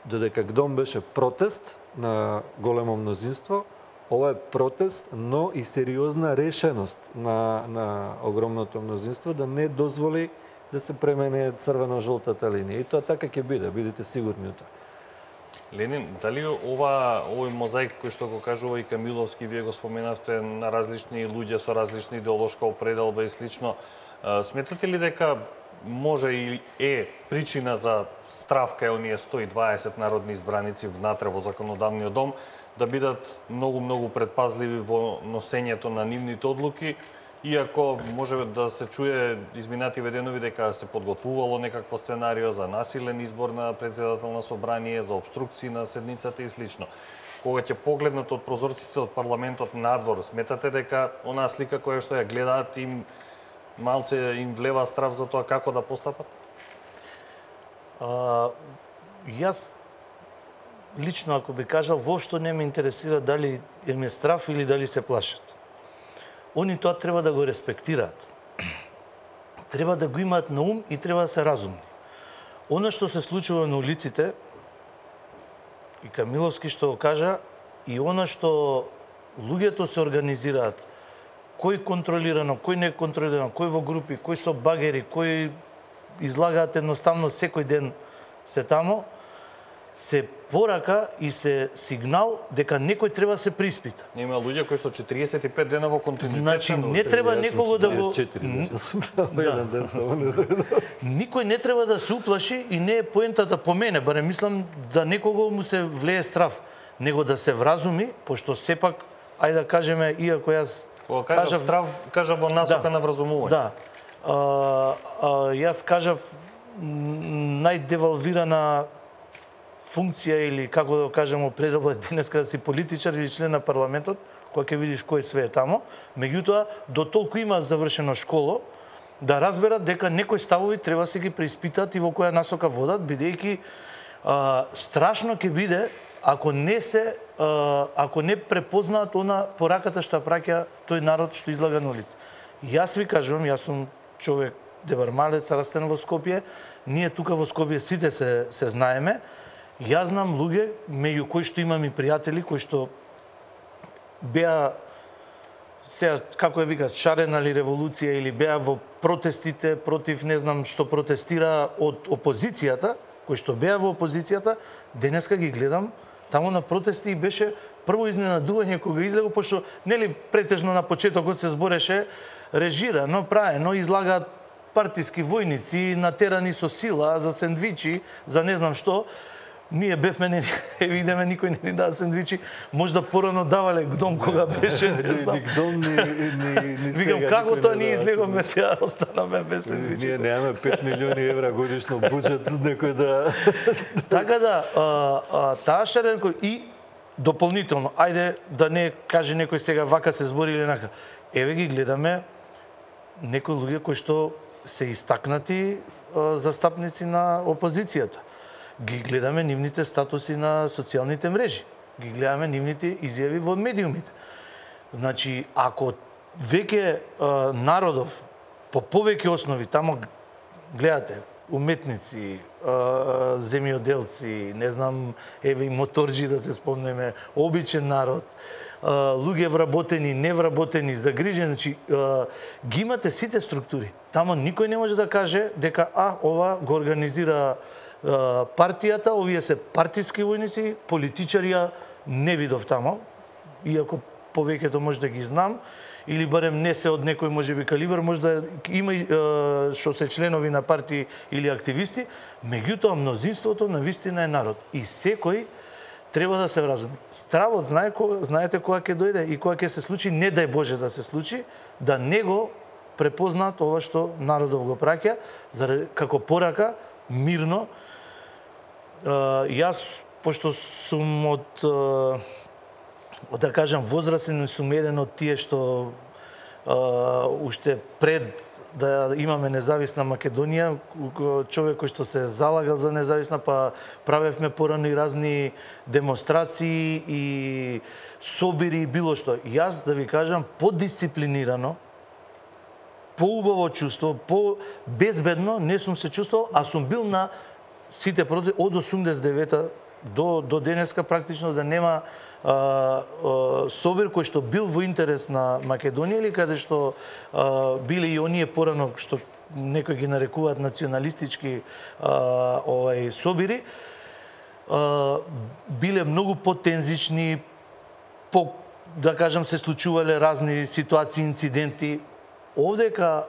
Додека ГДОМ беше протест на големо мнозинство, ова е протест, но и сериозна решеност на, на огромното мнозинство да не дозволи да се премене црвено-жолтата линија. И тоа така ќе биде, бидете сигурни од тоа. Ленин, дали ова, овој мозаик кој што го кажува и Камиловски, вие го споменавте, на различни луѓе со различна идеолошка определба и слично, сметате ли дека може и е причина за страв кај оние сто и дваесет народни избраници внатре во законодавниот дом да бидат многу-многу предпазливи во носењето на нивните одлуки, иако може да се чуе изминати веденови дека се подготвувало некакво сценарио за насилен избор на председател на собрание, за обструкции на седницата и слично. Кога ќе погледнат од прозорците од парламентот надвор, сметате дека онаа слика која што ја гледаат им малце им влева страв за тоа како да постапат? А, јас лично, ако би кажал, воопшто не ме интересира дали им е страв или дали се плашат. Они тоа треба да го респектираат. Треба да го имаат на ум и треба да се разумни. Оно што се случува на улиците, и Камиловски што го кажа, и оно што луѓето се организираат, кој контролирано, кој не контролирано, кој во групи, кој со багери, кој излагаат едноставно секој ден се тамо, се порака и се сигнал дека некој треба се приспита. Има луѓе кои што четириесет и пет дена во континуитет. Значи не треба некого да го Никој не треба да се уплаши и не е поентата по мене, барем мислам да некого му се влее страв, него да се вразуми, пошто сепак ајде да кажеме, иако јас кога кажав, кажав страв, кажав во насока да, на вразумување. Да. А, а, јас кажав најдевалвирана функција или како да кажеме определба денеска да си политичар или член на парламентот, кога ќе видиш кој све е тамо, меѓутоа до толку има завршено школо да разберат дека некои ставови треба се ги преиспитат и во која насока водат, бидејќи а, страшно ќе биде ако не се а, ако не препознаат она пораката што праќа тој народ што излага на улица. Јас ви кажувам, јас сум човек девармалец растен во Скопје. Ние тука во Скопје сите се се знаеме. Јас знам луѓе меѓу кои што имам и пријатели кои што беа сега како ја викаат шарена ли револуција или беа во протестите против не знам што протестира од опозицијата, кои што беа во опозицијата, денеска ги гледам таму на протести и беше прво изненадување кога излего, пошто нели претежно на почетокот се збореше режирано, праено, излагаат партиски војници, натерани со сила, за сендвичи, за не знам што. Ние бевме, не, видиме, никој не ни дава сендвичи, можда порано давале гдом кога беше, не знам. Ни гдом, ни, ни, ни сега. Викам, како тоа ние излеговме, сега останаме без сендвичи. Ние немаме пет милиони евра годишно буџет, некој да... Така да, а, а, таа шаренко и дополнително, ајде да не каже некој сега вака се збори или нака. Еве ги гледаме некои луѓе кои што се истакнати а, застапници на опозицијата. Ги гледаме нивните статуси на социјалните мрежи. Ги гледаме нивните изјави во медиумите. Значи, ако веќе а, народов по повеќе основи, тамо гледате, уметници, а, земјоделци, не знам, еве и моторџи да се спомнеме, обичен народ, а, луѓе вработени, невработени, загрижени, значи а, ги имате сите структури. Тамо никој не може да каже дека а ова го организира а, партијата, овие се партиски војници, политичари ја не видов тамо, иако повеќето може да ги знам, или барем не се од некој можеби калибар, може да има и што се членови на партии или активисти, меѓутоа мнозинството на вистина е народ. И секој треба да се вразуми. Стравот знае кога, знаете кога ќе дојде и кога ќе се случи, не дај Боже да се случи, да не го препознаат ова што народов го праќа, заради како порака мирно. Јас пошто сум од да кажам, возрастен сум еден од тие што а, уште пред да имаме независна Македонија, човек кој што се залагал за независна, па правевме порано и разни демонстрации и собири и било што. Јас, да ви кажам, подисциплинирано, поубаво чувство, по-безбедно не сум се чувствувал, а сум бил на сите протести од осумдесет и девета до, до денеска практично да нема а, а, собир кој што бил во интерес на Македонија или каде што а, биле и оние порано што некои ги нарекуваат националистички а, овај собири, а, биле многу потензични, по, да кажам, се случувале разни ситуации, инциденти. Овдека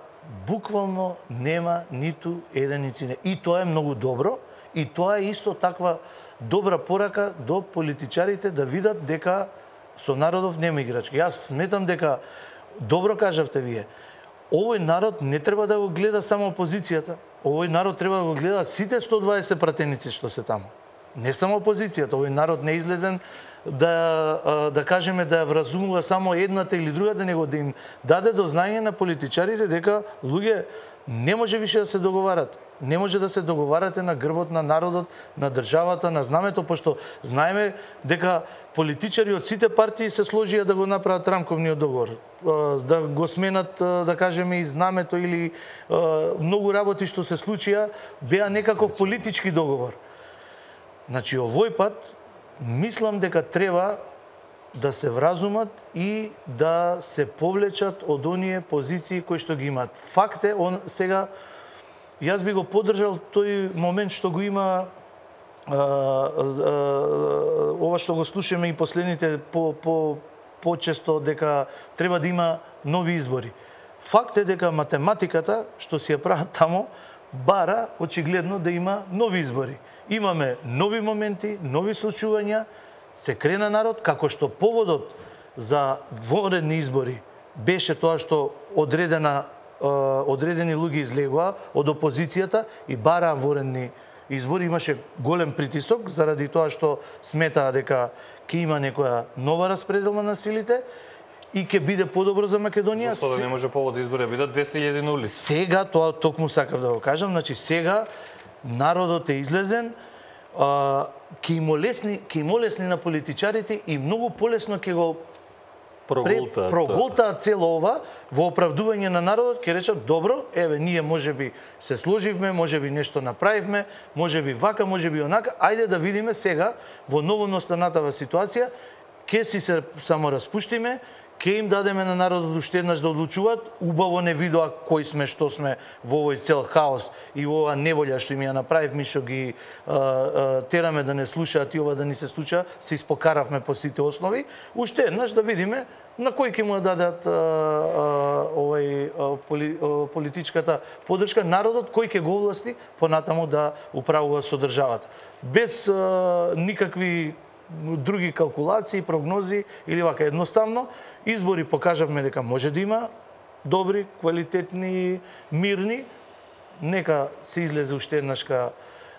буквално нема ниту еден инцидент. И тоа е многу добро, и тоа е исто таква добра порака до политичарите да видат дека со народов нема играчки. Јас сметам дека, добро кажавте вие, овој народ не треба да го гледа само опозицијата, овој народ треба да го гледа сите сто дваесет пратеници што се таму. Не само опозицијата, овој народ не е излезен да, да кажеме да ја вразумува само едната или другата, него да им даде до знаење на политичарите дека луѓе не може више да се договарат. Не може да се договарате на грбот на народот, на државата, на знамето, пошто знаеме дека политичари од сите партии се сложија да го направат рамковниот договор, да го сменат, да кажеме, и знамето или многу работи што се случија беа некаков политички договор. Значи, овој пат мислам дека треба да се вразумат и да се повлечат од оние позиции кои што ги имат. Факт е, он сега јас би го поддржал тој момент што го има а, а, ова што го слушаме и последните по по почесто дека треба да има нови избори. Факт е дека математиката што си ја прават тамо бара очигледно да има нови избори. Имаме нови моменти, нови случувања, се крена народ, како што поводот за вонредни избори беше тоа што одредена, одредени луѓе излегоа од опозицијата и бараа вонредни избори. Имаше голем притисок заради тоа што сметаа дека ќе има некоја нова распределба на силите и ќе биде подобро за Македонија. Зашто да не може повод за избори да бидат двесте илјади на улица? Сега, тоа токму сакав да го кажам, значи сега народот е излезен, ќе им олесни, ќе им олесни на политичарите и многу полесно ќе го проголтаа проголтаа цело ова во оправдување на народот, ќе речат добро, еве ние можеби се сложивме, можеби нешто направивме, можеби вака, можеби онака, ајде да видиме сега во новонастанатава ситуација, ќе си се само распуштиме, ќе им дадеме на народот уште еднаш да одлучуваат, убаво не видоа кои сме, што сме во овој цел хаос и во оваа неволја што им ја направивме, што ги а, а, тераме да не слушаат и ова да ни се случа, се испокаравме по сите основи, уште еднаш да видиме на кој ќе му дадат а, а, овај а, поли, а, политичката поддршка народот, кој ќе го овласти понатаму да управува со државата. Без а, никакви други калкулации, прогнози или вака. Едноставно, избори покажавме дека може да има добри, квалитетни, мирни. Нека се излезе уште еднашка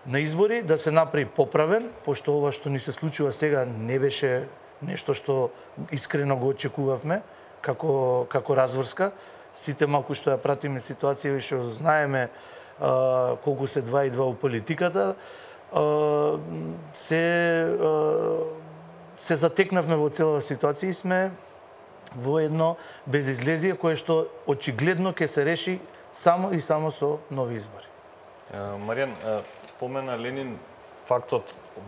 на избори, да се направи поправен, пошто ова што ни се случува сега не беше нешто што искрено го очекувавме како, како разврска. Сите малку што ја пратиме ситуација и што знаеме а, колку се два и два у политиката, се се затекнавме во целава ситуација и сме во едно безизлезие кое што очигледно ќе се реши само и само со нови избори. Маријан, спомена Ленин фактот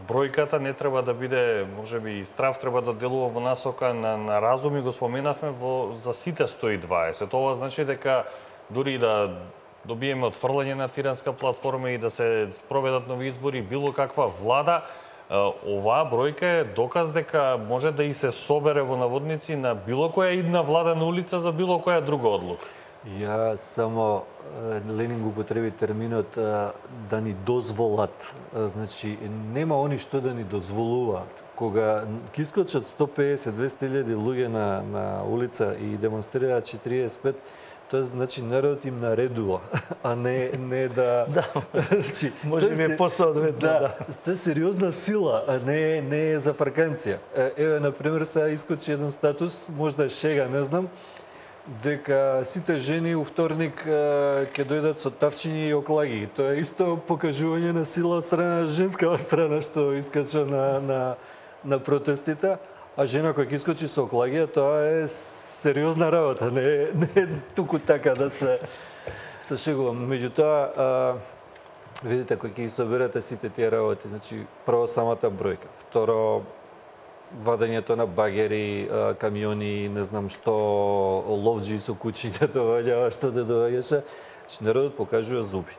бројката не треба да биде, можеби и страв треба да делува во насока на, на разум и го споменавме во за сите сто и дваесет. Ова значи дека дури да добиеме отфрлање на тиранска платформа и да се спроведат нови избори, било каква влада, оваа бројка е доказ дека може да и се собере во наводници на било која идна влада на улица за било која друга одлука. Ја само Ленин го употреби терминот да ни дозволат. Значи нема они што да ни дозволуваат. Кога ќе искочат сто песет до двесте илјади луѓе на на улица и демонстрираат четириесет и пет, тоа значи народот им наредува, а не не да да. Значи може би е посоодветно, да. да. Тоа е сериозна сила, а не не е за фрканција. Еве на пример сега искочи еден статус, можда е шега, не знам, дека сите жени у вторник ќе дојдат со тавчиња и оклаги. Тоа е исто покажување на сила од страна на женскава страна што искача на на на протестите, а жена која ќе искочи со оклагија, тоа е сериозна работа, не не туку така да се се шегувам. Меѓутоа, видите кој ќе ги соберете сите тие работи, значи прво самата бројка, второ вадењето на багери, камиони, не знам што, ловџи со кучиња доаѓаа, што да доаѓаше, че народот покажува зуби.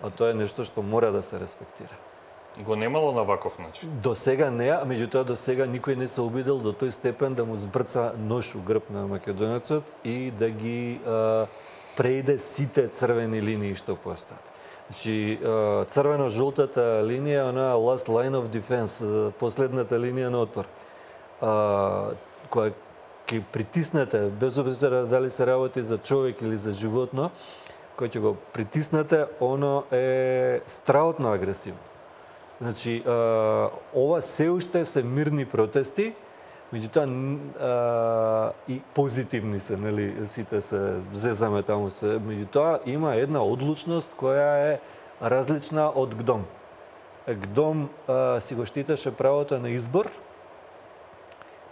А тоа е нешто што мора да се респектира. Го немало на ваков начин? До сега не, а меѓутоа до сега никој не се обидел до тој степен да му збрца нож у грб на македонецот и да ги а, преиде сите црвени линии што постојат. Значи, црвено-жолтата линија, она last line of defense, последната линија на отпор, а, која ќе притиснете, без обзира дали се работи за човек или за животно, кој ќе го притиснете, оно е страотно агресивно. Значи, а, ова се уште се мирни протести, меѓутоа и позитивни се, нели, сите се зезаме таму се. Меѓутоа има една одлучност која е различна од ГДОМ. ГДОМ а, си го штитеше правото на избор,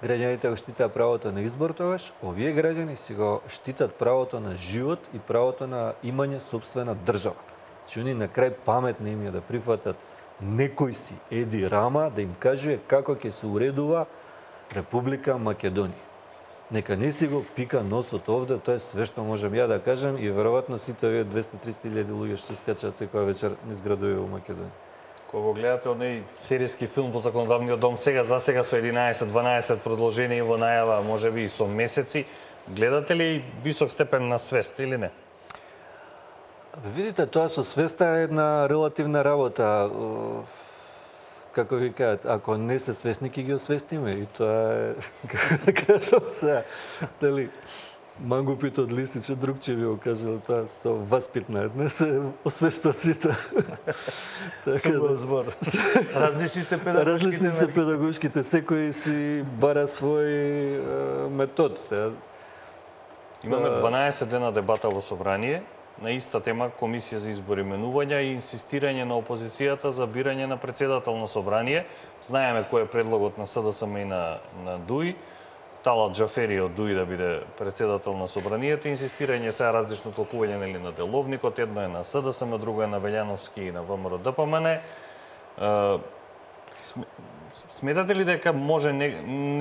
граѓаните го штитаа правото на избор тогаш, овие граѓани си го штитат правото на живот и правото на имање собствена држава. Значи, они на крај паметни им е да прифатат некој си Еди Рама да им кажува како ќе се уредува Република Македонија. Нека не си го пика носот овде, тоа е све што можам ја да кажам и веројатно сите овие двесте до триста илјади луѓе што скачаат секоја вечер низ градови во Македонија. Кога го гледате оној серијски филм во законодавниот дом, сега за сега со единаесет дванаесет продолжение во најава, можеби и со месеци, гледате ли висок степен на свест или не? Видите, тоа со свеста е една релативна работа. Како ви кажат, ако не се свесни, ќе ги освестиме. И тоа е, како да кажам се, дали, мангупите од Лисиче, друг че ви го кажал, тоа со васпитна една се освестуват сите. Така збор. Различни се педагошките. Различни се педагошките, секој си бара свој метод. Се. Имаме дванаесет дена дебата во собрание на иста тема Комисија за избори менувања и инсистирање на опозицијата за бирање на председател на собрание. Знаеме кој е предлогот на СДСМ и на, на ДУИ. Талат Џафери од ДУИ да биде председател на собранието, инсистирање сега различно толкување нели на деловникот, едно е на СДСМ, друго е на Велјановски и на ВМРО Д П М Н. Сметате ли дека може не,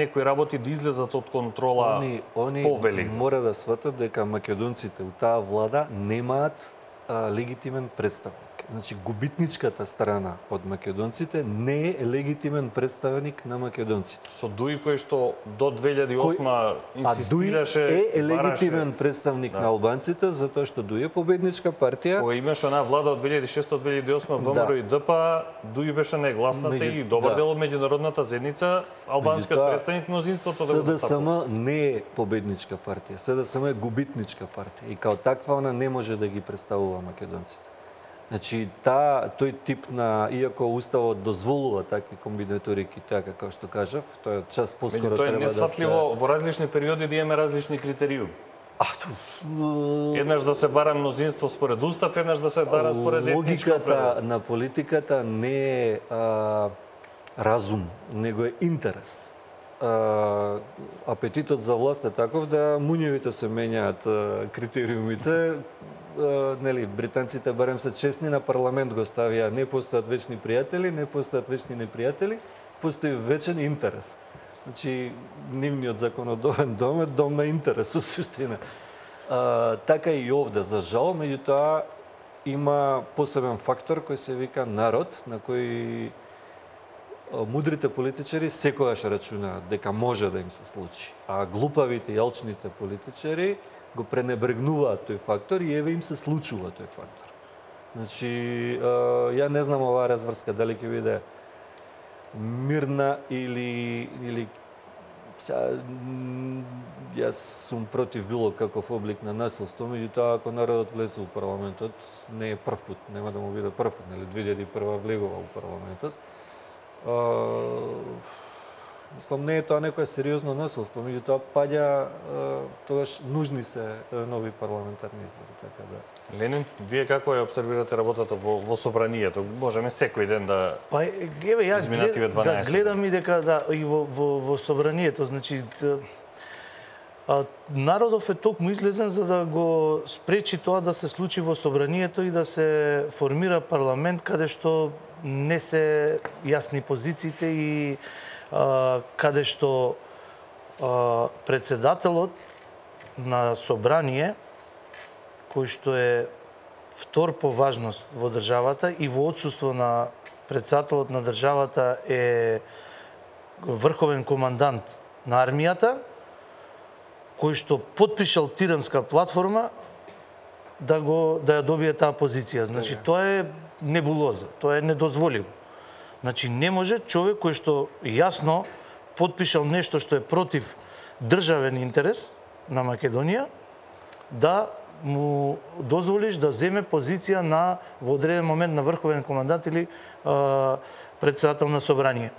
некои работи да излезат од контрола Они, они повели? мора да сватат дека македонците у таа влада немаат а, легитимен представник. Значи, губитничката страна од македонците не е легитимен представник на македонците. Со ДУИ кој што до две илјади и осма инсистираше, а ДУИ е бараше... легитимен представник да. на албанците, затоа што ДУИ е победничка партија. Кој имаше една влада од две илјади и шеста до две илјади и осма, ВМРО Да. и Д П, ДУИ беше негласната Меѓу- и добар да. дел од меѓународната заедница, албанскиот Меѓутоа, представник мнозинството да го застапува. СДСМ не е победничка партија, СДСМ е губитничка партија и као таква она не може да ги представува македонците. Значи, та, тој тип на, иако Уставот дозволува такви комбинаторики, така како што кажав, тоа час поскоро Меѓу тоа е треба да се... несфатливо во различни периоди да имаме различни критериуми. А, ту, Еднаш да се бара мнозинство според устав, еднаш да се бара според етничка логиката определ. на политиката не е а, разум, него е интерес. А, апетитот за власт е таков да муњевите се менјаат а, критериумите. А, нели, британците барем се честни, на парламент го ставија, не постојат вечни пријатели, не постојат вечни непријатели, постои вечен интерес. Значи, нивниот законодовен дом е дом на интерес, со суштина. А, така и овде, за жал, меѓутоа има посебен фактор кој се вика народ, на кој а, мудрите политичари секогаш рачунаат дека може да им се случи, а глупавите и алчните политичари го пренебрегнуваат тој фактор и еве им се случува тој фактор. Значи, а, ја не знам оваа разврска дали ќе биде мирна или или Са, јас сум против било каков облик на насилство, меѓутоа ако народот влезе во парламентот, не е прв пат, нема да му биде прв пат, нели две илјади и прва влегува во парламентот. А, мислам, не е тоа некое сериозно насилство, меѓутоа паѓа тогаш нужни се нови парламентарни избори, така да. Ленин, вие како ја обсервирате работата во, во собранието? Можеме секој ден да... Па еве јас изминативе глед, да дванаесет. гледам и дека да и во во, во собранието, значи т, а, народов е токму излезен за да го спречи тоа да се случи во собранието и да се формира парламент каде што не се јасни позициите и а, каде што а, председателот на собрание кој што е втор по важност во државата и во отсуство на председателот на државата е врховен командант на армијата, кој што подпишал тиранска платформа да го да ја добие таа позиција. Значи тоа е небулоза, тоа е недозволиво. Значи не може човек кој што јасно подпишал нешто што е против државен интерес на Македонија да му дозволиш да земе позиција на во одреден момент на врховен командант или а, председател на собрание.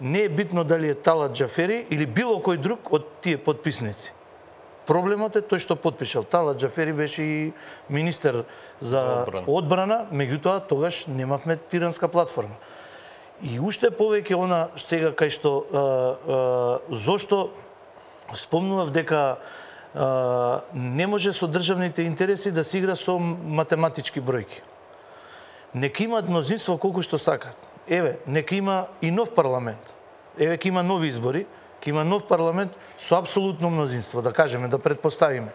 Не е битно дали е Талат Џафери или било кој друг од тие подписници. Проблемот е тој што подпишал. Талат Џафери беше и министер за Одбрана. одбрана, меѓутоа тогаш немавме тиранска платформа. И уште повеќе она сега кај што а, а, зошто спомнував дека а, не може со државните интереси да се игра со математички бројки. Нека имаат мнозинство колку што сакат. Еве, нека има и нов парламент. Еве, ќе има нови избори, ќе има нов парламент со апсолутно мнозинство, да кажеме, да предпоставиме.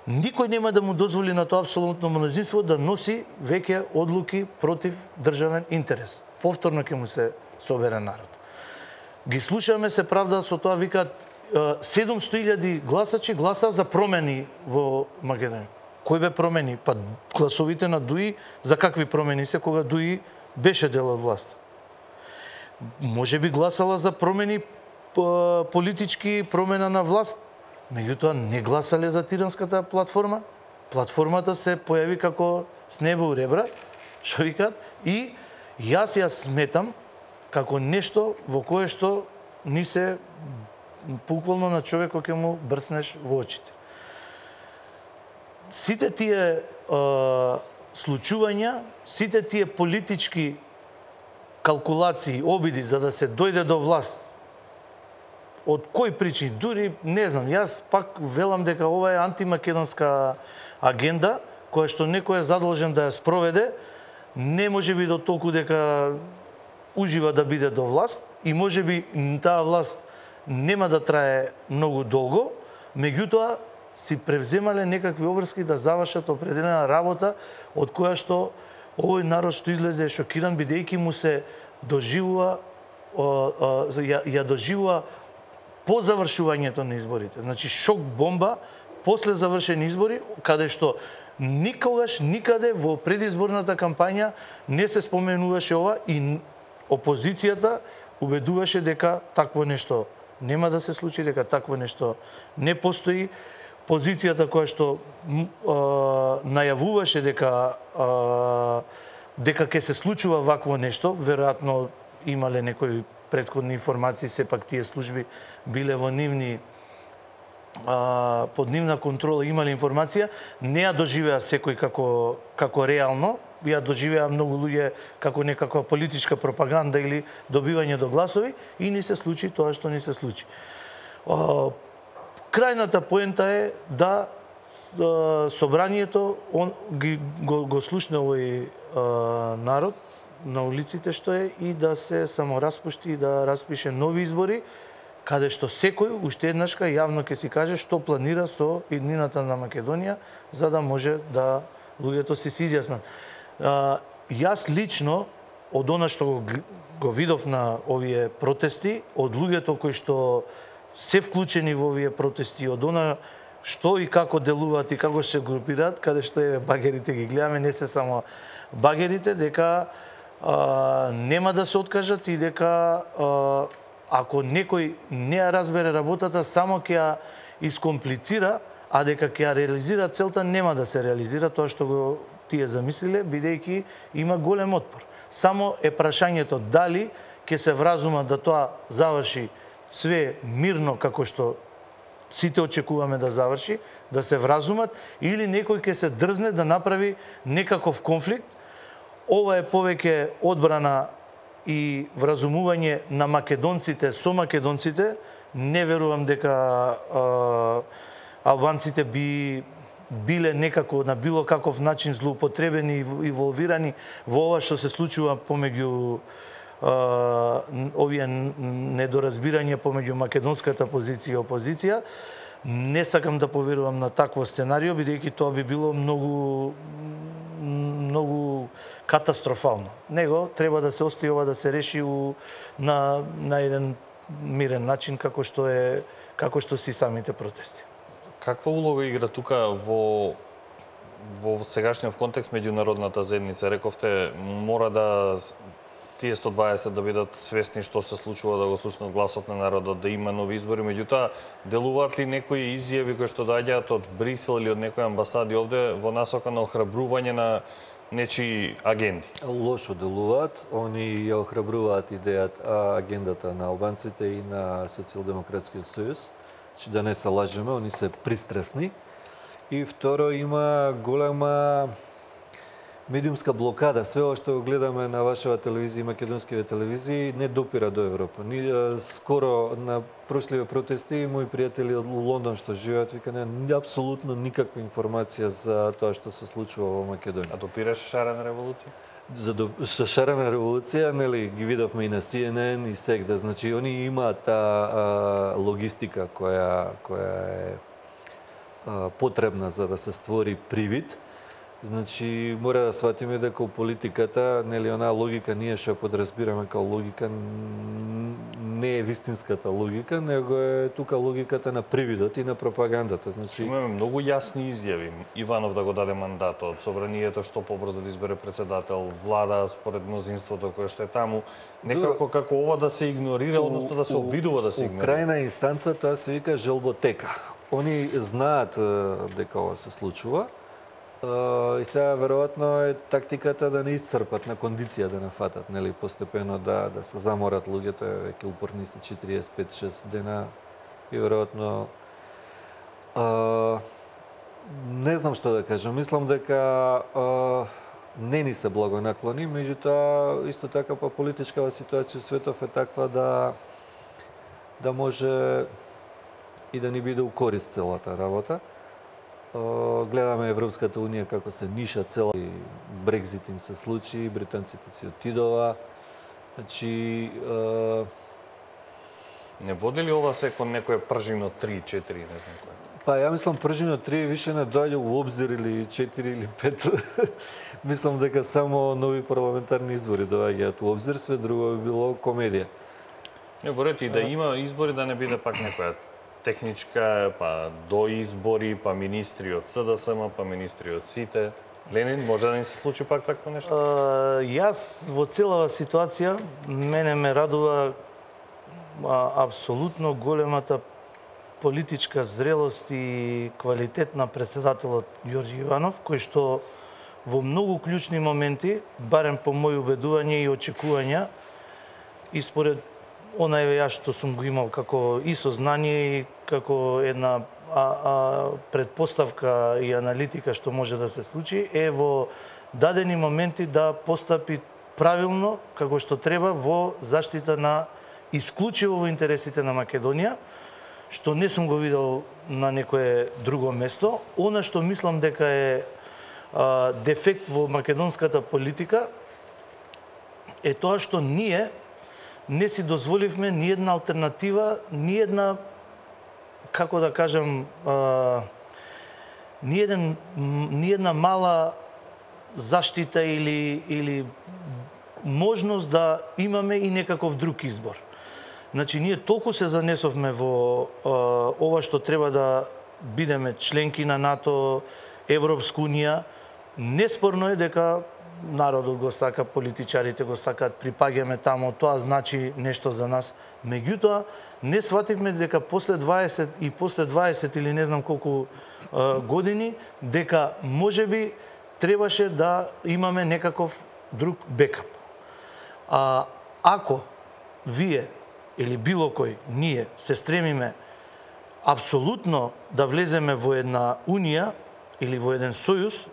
Никој нема да му дозволи на тоа апсолутно мнозинство да носи веќе одлуки против државен интерес. Повторно ќе му се собере народ. Ги слушаме се правда со тоа, викаат седумстотини илјади гласачи гласа за промени во Македонија. Кој бе промени? Па гласовите на ДУИ за какви промени се кога ДУИ беше дел од власт. Може би гласала за промени политички, промена на власт, меѓутоа не гласале за тиранската платформа. Платформата се појави како с небо у ребра, што викаат, и јас ја сметам како нешто во кое што ни се буквално на човекот ќе му брцнеш во очите. Сите тие е, случувања, сите тие политички калкулации, обиди за да се дојде до власт од кој причини? Дури не знам, јас пак велам дека ова е антимакедонска агенда која што некој е задолжен да ја спроведе, не може би до толку дека ужива да биде до власт и може би таа власт нема да трае многу долго, меѓутоа си превземале некакви обврски да завршат определена работа од која што овој народ што излезе шокиран бидејќи му се доживува ја, ја доживува по завршувањето на изборите. Значи шок бомба после завршени избори, каде што никогаш никаде во предизборната кампања не се споменуваше ова и опозицијата убедуваше дека такво нешто нема да се случи, дека такво нешто не постои. Позицијата која што а, најавуваше дека а, дека ќе се случува вакво нешто, веројатно имале некои претходни информации, сепак тие служби биле во нивни а, под нивна контрола, имале информација, не ја доживеа секој како како реално, ја доживеа многу луѓе како некаква политичка пропаганда или добивање до гласови и ни се случи тоа што ни се случи. А, крајната поента е да собранието он ги го, го слушне овој а, народ на улиците што е и да се самораспушти и да распише нови избори, каде што секој уште еднашка јавно ќе си каже што планира со иднината на Македонија, за да може да луѓето си се изјаснат. А, јас лично од она што го, го видов на овие протести, од луѓето кои што се вклучени во овие протести, од она што и како делуваат и како се групираат, каде што е багерите ги гледаме, не се само багерите, дека а, нема да се откажат и дека а, ако некој не ја разбере работата, само ќе ја искомплицира, а дека ќе ја реализира целта, нема да се реализира тоа што го тие замислиле, бидејќи има голем отпор. Само е прашањето дали ќе се вразумат да тоа заврши све мирно како што сите очекуваме да заврши, да се вразумат, или некој ќе се дрзне да направи некаков конфликт. Ова е повеќе одбрана и вразумување на македонците со македонците. Не верувам дека а, албанците би биле некако на било каков начин злоупотребени и инволвирани во ова што се случува помеѓу Uh, овие недоразбирања помеѓу македонската позиција и опозиција. Не сакам да поверувам на такво сценарио, бидејќи тоа би било многу многу катастрофално. Него треба да се остави ова да се реши у, на на еден мирен начин како што е како што си самите протести. Каква улога игра тука во во сегашниот контекст меѓународната заедница? Рековте мора да тие сто дваесет да бидат свесни што се случува, да го слушнат гласот на народот, да има нови избори. Меѓутоа, делуваат ли некои изјави кои што доаѓаат од Брисел или од некои амбасади овде во насока на охрабрување на нечии агенди? Лошо делуваат. Они ја охрабруваат идејата, агендата на албанците и на Социјалдемократскиот сојуз. Че да не се лажеме, они се пристрасни. И второ, има голема медиумска блокада. Све ова што го гледаме на вашава телевизија и македонските телевизии не допира до Европа. Ни скоро на прошливи протести мои пријатели од Лондон што живеат вика нема апсолутно никаква информација за тоа што се случува во Македонија. А допираше шарена револуција? За до, шарена револуција, нели ги видовме и на Си Ен Ен и сегде. Значи они имаат таа логистика која која е а, потребна за да се створи привид. Значи, мора да сватиме дека у политиката, нели, онаа логика ние што подразбираме као логика, не е вистинската логика, него е тука логиката на привидот и на пропагандата. Значи, имаме многу јасни изјави. Иванов да го даде мандатот, собранието што побрзо да избере председател, влада според мнозинството кое што е таму, некако како ова да се игнорира, односно да се обидува да се игнорира. У крајна инстанца тоа се вика желботека. Они знаат дека ова се случува. Uh, и сега веројатно е тактиката да не исцрпат на кондиција да не фатат, нели, постепено да да се заморат луѓето, веќе упорни се четириесет пет шест дена и веројатно uh, не знам што да кажам. Мислам дека uh, не ни се да може и да ни биде у корист целата работа. Гледаме Европската унија како се ниша цела, Брекзит им се случи, британците си отидова. Значи, не води ли ова се кон некој пржино три, четири, не знам кој? Па ја мислам пржино три више не доаѓа у обзир или четири или пет. Мислам дека само нови парламентарни избори доаѓаат у обзир, све друго би било комедија. Не, борете и да има избори, да не биде пак некоја техничка, па до избори, па министри од С Д С М, па министри од сите. Ленин, може да ни се случи пак такво нешто? Uh, јас во целава ситуација, мене ме радува а, апсолутно големата политичка зрелост и квалитет на председателот Ѓорѓе Иванов, кој што во многу клучни моменти, барем по мои убедување и очекувања, и според онај јас што сум го имал како и сознание и како една а, а, предпоставка и аналитика што може да се случи, е во дадени моменти да постапи правилно, како што треба, во заштита на исклучиво во интересите на Македонија, што не сум го видел на некое друго место. Она што мислам дека е а, дефект во македонската политика е тоа што ние не си дозволивме ни една алтернатива, ни една, како да кажам, а, ни, еден, ни една мала заштита или, или можност да имаме и некаков друг избор. Значи, ние толку се занесовме во а, ова што треба да бидеме членки на НАТО, Европска унија. Неспорно е дека народот го сака, политичарите го сакаат, припаѓаме тамо, тоа значи нешто за нас. Меѓутоа, не свативме дека после дваесет и после дваесет или не знам колку а, години, дека можеби требаше да имаме некаков друг бекап. А ако вие или било кој, ние се стремиме апсолутно да влеземе во една унија или во еден сојуз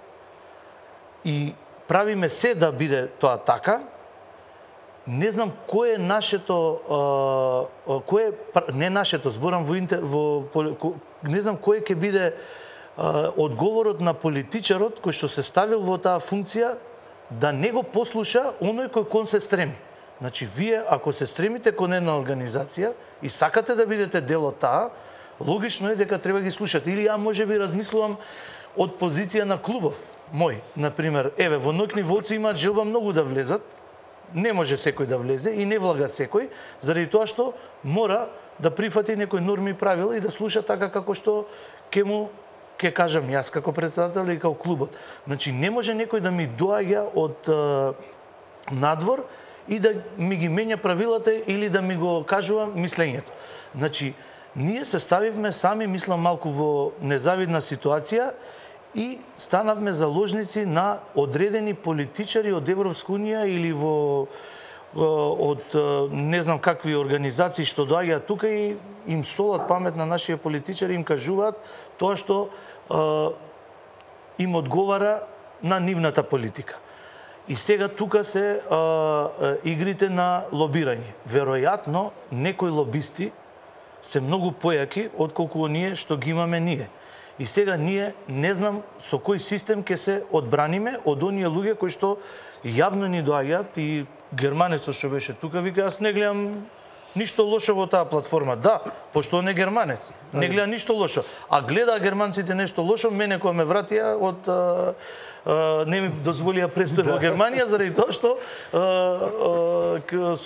и правиме се да биде тоа така, не знам кој е нашето, а, кој е, не нашето, зборам во, во не знам кој ќе биде а, одговорот на политичарот кој што се ставил во таа функција да не го послуша оној кој кон се стреми. Значи, вие, ако се стремите кон една организација и сакате да бидете дел од таа, логично е дека треба ги слушате. Или ја може би размислувам од позиција на клубов мој. Например, еве, во Ноќни волци имаат желба многу да влезат, не може секој да влезе и не влага секој, заради тоа што мора да прифати некои норми и правила и да слуша така како што ќе му ќе кажам јас како председател и како клубот. Значи, не може некој да ми доаѓа од е, надвор и да ми ги менја правилата или да ми го кажува мислењето. Значи, ние се ставивме сами, мислам, малку во незавидна ситуација и станавме заложници на одредени политичари од Европска унија или во од не знам какви организации што доаѓаат тука и им солат памет на нашите политичари, им кажуваат тоа што е, им одговара на нивната политика. И сега тука се а, а, игрите на лобирање. Веројатно, некои лобисти се многу појаки отколку оние што ги имаме ние. И сега ние не знам со кој систем ќе се одбраниме од оние луѓе кои што јавно ни доаѓаат и германецот што беше тука вика јас не гледам ништо лошо во таа платформа. Да, пошто он е германец. Не гледа ништо лошо. А гледа германците нешто лошо, мене кога ме вратија од а, а, не ми дозволија престој во Германија заради тоа што а, а,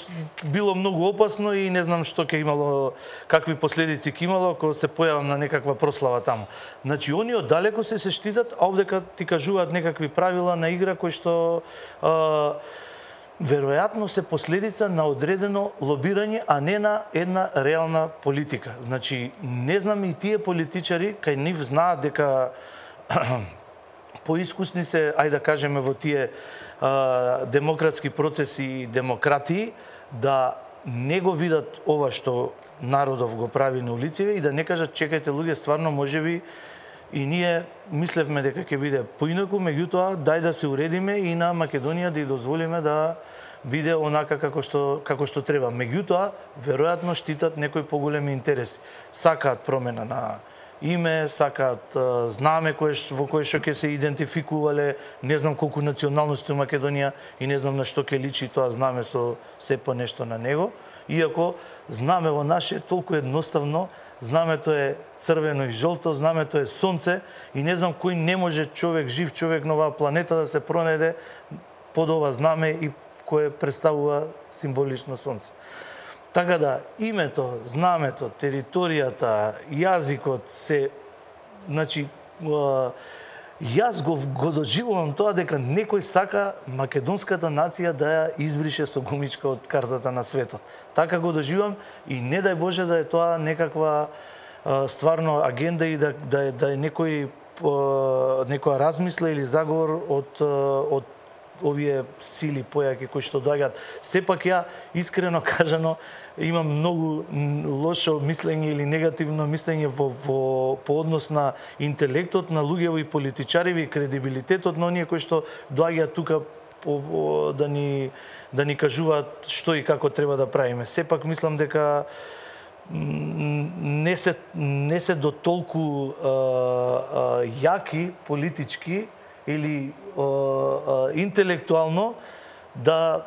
било многу опасно и не знам што ќе имало, какви последици ќе имало ако се појавам на некаква прослава таму. Значи они оддалеку се се штитат, а овдека ти кажуваат некакви правила на игра кои што а, веројатно се последица на одредено лобирање, а не на една реална политика. Значи, не знам и тие политичари, кај нив знаат дека поискусни се, ајде да кажеме, во тие а, демократски процеси и демократии, да не го видат ова што народов го прави на улиците и да не кажат, чекајте луѓе, стварно можеби и ние мислевме дека ќе биде поинаку, меѓутоа дај да се уредиме и на Македонија да ја дозволиме да биде онака како што како што треба. Меѓутоа, веројатно штитат некои поголеми интереси. Сакаат промена на име, сакаат знаме кое во кое што ќе се идентификувале, не знам колку националности у Македонија и не знам на што ќе личи тоа знаме со се по нешто на него. Иако знаме во наше толку едноставно, знамето е црвено и жолто, знамето е сонце и не знам кој не може човек, жив човек на оваа планета да се пронајде под ова знаме и кое представува символично сонце. Така да, името, знамето, територијата, јазикот се, значи, јас го, го доживувам тоа дека некој сака македонската нација да ја избрише со гумичка од картата на светот. Така го доживувам и не дај Боже да е тоа некаква стварно агенда и да, да, е, да е некој, некоја размисла или заговор од, од овие сили појаки кои што доаѓаат. Сепак ја, искрено кажано, имам многу лошо мислење или негативно мислење во, во, по однос на интелектот на луѓево и политичареви и кредибилитетот на оние кои што доаѓаат тука по, по, да, ни, да ни кажуваат што и како треба да правиме. Сепак мислам дека не се, не се до толку а, а, јаки политички или а, а, интелектуално да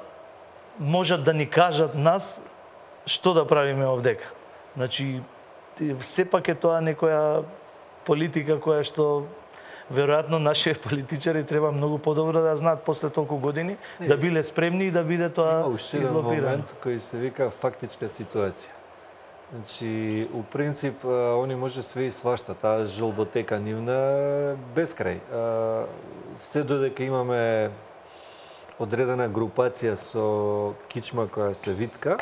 можат да ни кажат нас што да правиме овдека. Значи, сепак е тоа некоја политика која што веројатно нашите политичари треба многу подобро да знаат после толку години, не, да биле спремни и да биде тоа излопирано. Има уште момент кој се вика фактичка ситуација. Значи, у принцип, они може све и свашта, таа жолботека нивна безкрај. Се додека имаме одредена групација со кичма која се витка,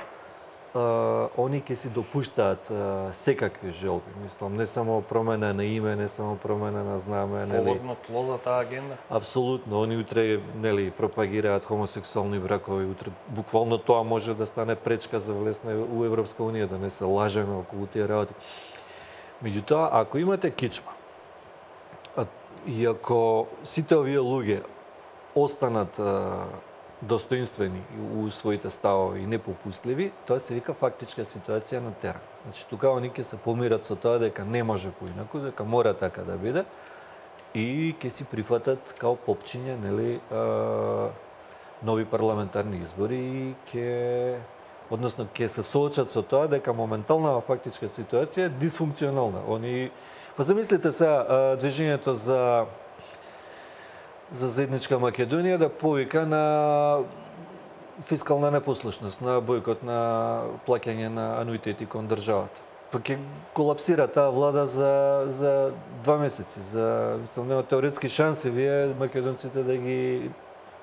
Uh, они ќе си допуштаат uh, секакви желби. Мислам, не само промена на име, не само промена на знаме. Плодно тло за таа агенда? Апсолутно. Они утре нели, пропагираат хомосексуални бракови. Утре буквално тоа може да стане пречка за влезна у Европска унија, да не се лажеме околу тие работи. Меѓутоа, ако имате кичма, и ако сите овие луѓе останат uh, достоинствени у своите ставови и непопустливи, тоа се вика фактичка ситуација на терен. Значи, тука они ќе се помират со тоа дека не може поинаку, дека мора така да биде и ќе си прифатат као попчиња, нели, а, нови парламентарни избори и ќе односно ќе се соочат со тоа дека моментална фактичка ситуација е дисфункционална. Они па замислите се движењето за за заедничка Македонија да повика на фискална непослушност, на бојкот на плаќање на ануитети кон државата. Па ќе колапсира таа влада за за два месеци. За мислам нема теоретски шанси вие македонците да ги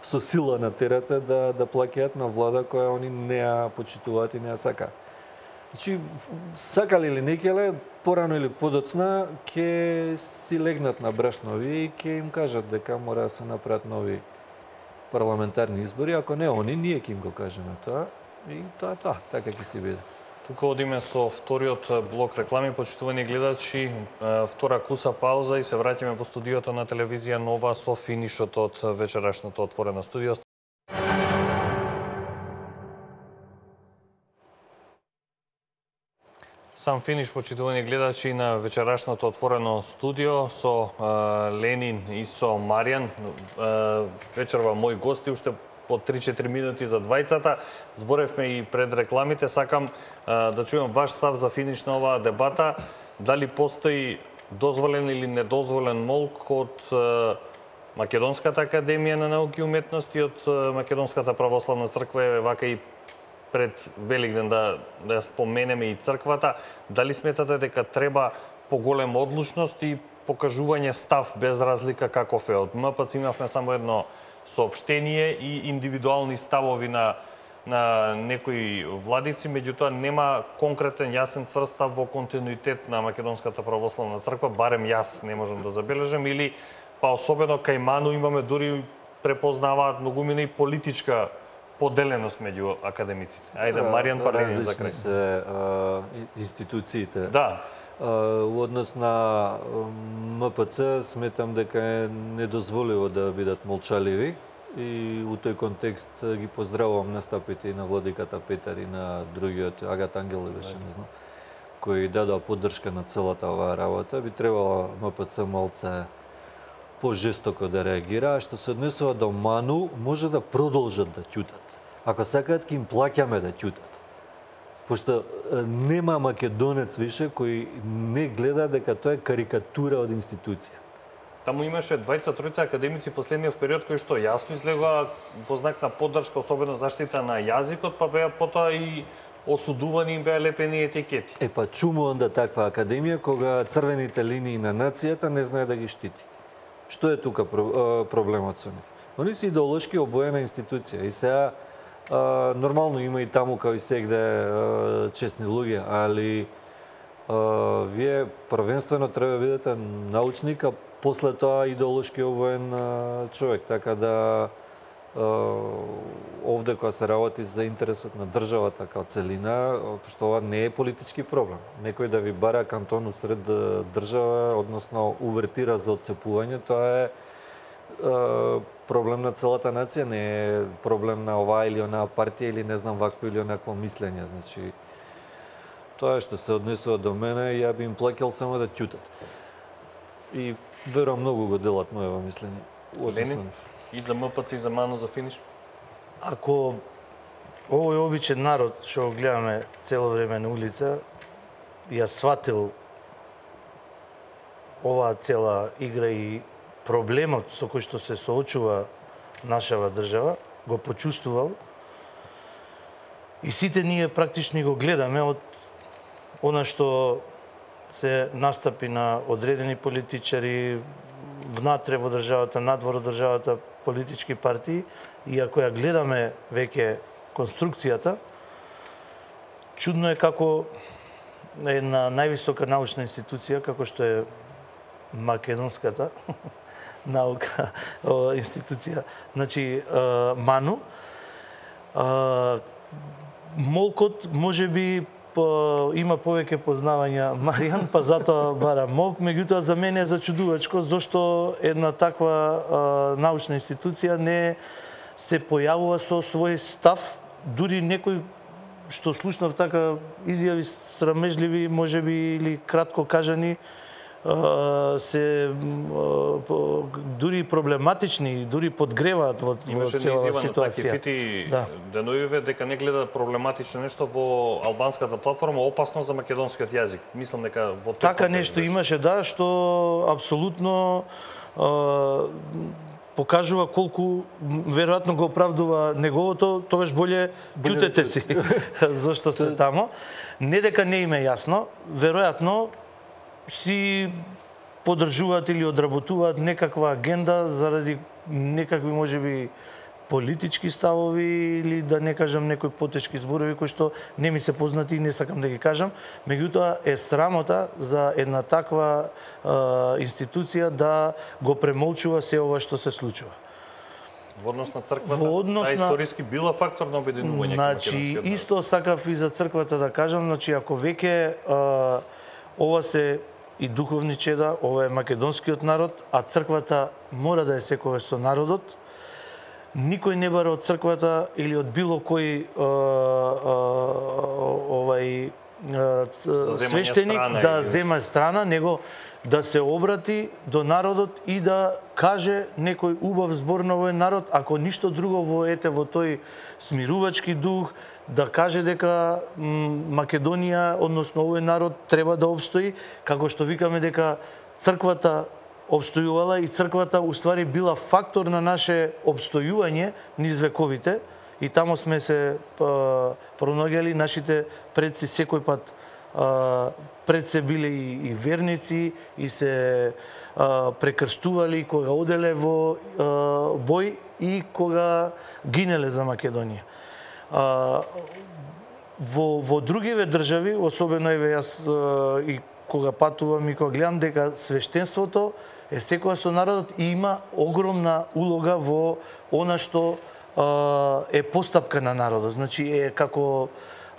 со сила натерате да да плаќаат на влада која они не ја почитуваат и не ја сакаат. Значи, сакале или не келе, порано или подоцна, ќе си легнат на брашнови и ќе им кажат дека мора да се направат нови парламентарни избори. Ако не они, ние ќе им го кажеме тоа. И тоа е тоа, така ќе си биде. Тука одиме со вториот блок реклами, почитувани гледачи, втора куса пауза и се враќаме во студиото на телевизија Нова со финишот од вечерашното отворено студио. Сам финиш, почитувани гледачи, на вечерашното отворено студио со uh, Ленин и со Маријан. Uh, вечерва мои гости, уште по три-четири минути за двајцата. Зборевме и пред рекламите. Сакам uh, да чујам ваш став за финиш на оваа дебата. Дали постои дозволен или недозволен молк од uh, Македонската академија на науки и уметности, од uh, Македонската православна црква, вака и пред Великден да, да ја споменеме и црквата, дали сметате дека треба поголема одлучност и покажување став без разлика каков е? Од М П Ц имавме само едно соопштение и индивидуални ставови на, на некои владици, меѓутоа нема конкретен јасен цврст став во континуитет на Македонската православна црква, барем јас не можам да забележам, или па особено кај Ману имаме дури препознаваат многумина и политичка поделеност меѓу академиците. Ајде, Маријан, па Ленин за крај. Различни се а, институциите. Да. А, во однос на М П Ц сметам дека е недозволиво да бидат молчаливи И у тој контекст ги поздравувам настапите и на владиката Петар и на другиот Агат Ангелов беше, не знам, кои дадоа поддршка на целата оваа работа. Би требало М П Ц малце пожестоко да реагира, а што се однесува до Ману, може да продолжат да ќутат. Ако сакаат, ќе им плаќаме да ќутат. Пошто нема македонец више кој не гледа дека тоа е карикатура од институција. Таму имаше двајца тројца академици последниот период кои што јасно излегоа во знак на поддршка, особено заштита на јазикот, па беа потоа и осудувани, им беа лепени етикети. Е па чуму онда таква академија кога црвените линии на нацијата не знае да ги штити. Што е тука проблемот со нив? Они се идеолошки обоена институција и сега нормално има и таму као и сегде честни луѓе, али вие првенствено треба да бидете научник, а после тоа идеолошки обоен човек, така да овде кога се работи за интересот на државата као целина, што ова не е политички проблем. Некој да ви бара кантон усред држава, односно увертира за отцепување, тоа е проблем на целата нација, не е проблем на оваа или онаа партија или не знам вакво или онакво мислење. Значи, тоа што се однесува до мене, ја би им плакел само да ќутат. И верувам многу го делат моево мислење. Ленин, и за М П Ц и за Ману за финиш? Ако овој обичен народ што го гледаме цело време на улица, ја сватил оваа цела игра и проблемот со кој што се соочува нашава држава, го почувствувал и сите ние практично го гледаме од она што се настапи на одредени политичари внатре во државата, надвор од државата, политички партии, и ако ја гледаме веќе конструкцијата, чудно е како една највисока научна институција, како што е македонската наука институција, значи МАНУ, молкот можеби има повеќе познавања Маријан, па затоа бара молк, меѓутоа за мене е зачудувачко зошто една таква научна институција не се појавува со свој став, дури некој што слушнав така изјави срамежливи, можеби или кратко кажани, се дури проблематични, дури подгреваат во, во целава ситуација. Имаше да. Денојуве дека не гледа проблематично нешто во албанската платформа, опасно за македонскиот јазик. Мислам дека во така нешто имаше, да, што апсолутно покажува колку веројатно го оправдува неговото, тогаш боле ќутете си зошто сте тамо. Не дека не им е јасно, веројатно си подржуваат или одработуваат некаква агенда заради некакви можеби политички ставови или да не кажам некои потешки зборови кои што не ми се познати и не сакам да ги кажам, меѓутоа е срамота за една таква е, институција да го премолчува се ова што се случува. Во однос на црквата, Во однос а на... историски била фактор на обединување. Значи, исто сакав и за црквата да кажам, значи ако веќе ова се и духовни чеда, ова е македонскиот народ, а црквата мора да е секогаш со народот. Никој не бара од црквата или од било кој а, а, овај а, свештеник да зема страна, него да се обрати до народот и да каже некој убав збор на овој народ, ако ништо друго во ете во тој смирувачки дух, да каже дека Македонија, односно овој народ треба да обстои, како што викаме дека црквата обстојувала и црквата уствари била фактор на наше обстојување низ вековите и тамо сме се пронаѓали, нашите предци секој пат пред се биле и, и верници и се а, прекрстували кога оделе во а, бој и кога гинеле за Македонија. А, во, во другиве држави, особено еве јас а, и кога патувам и кога гледам дека свештенството е секоја со народот и има огромна улога во она што а, е постапка на народот. Значи е како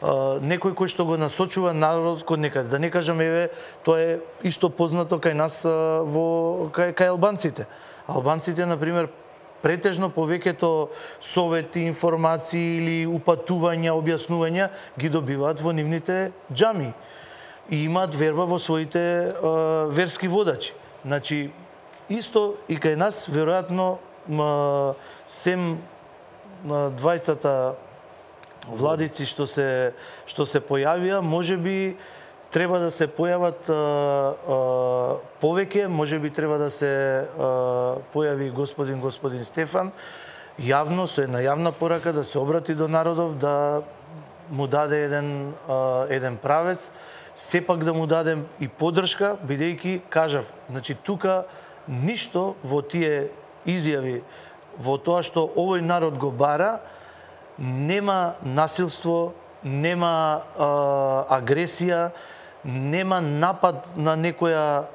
а, некој кој што го насочува народот кон некаде. Да не кажам еве тоа е исто познато кај нас а, во кај, кај албанците. Албанците на пример претежно повеќето совети, информации или упатувања, објаснувања ги добиваат во нивните џами и имаат верба во своите а, верски водачи. Значи, исто и кај нас, веројатно, ма, сем двајцата владици што се што се појавија, можеби треба да се појават а, а, повеќе, можеби треба да се а, појави господин господин Стефан јавно со една јавна порака да се обрати до народов, да му даде еден а, еден правец, сепак да му дадем и поддршка, бидејќи кажав, значи тука ништо во тие изјави, во тоа што овој народ го бара, нема насилство, нема а, агресија, нема напад на некоја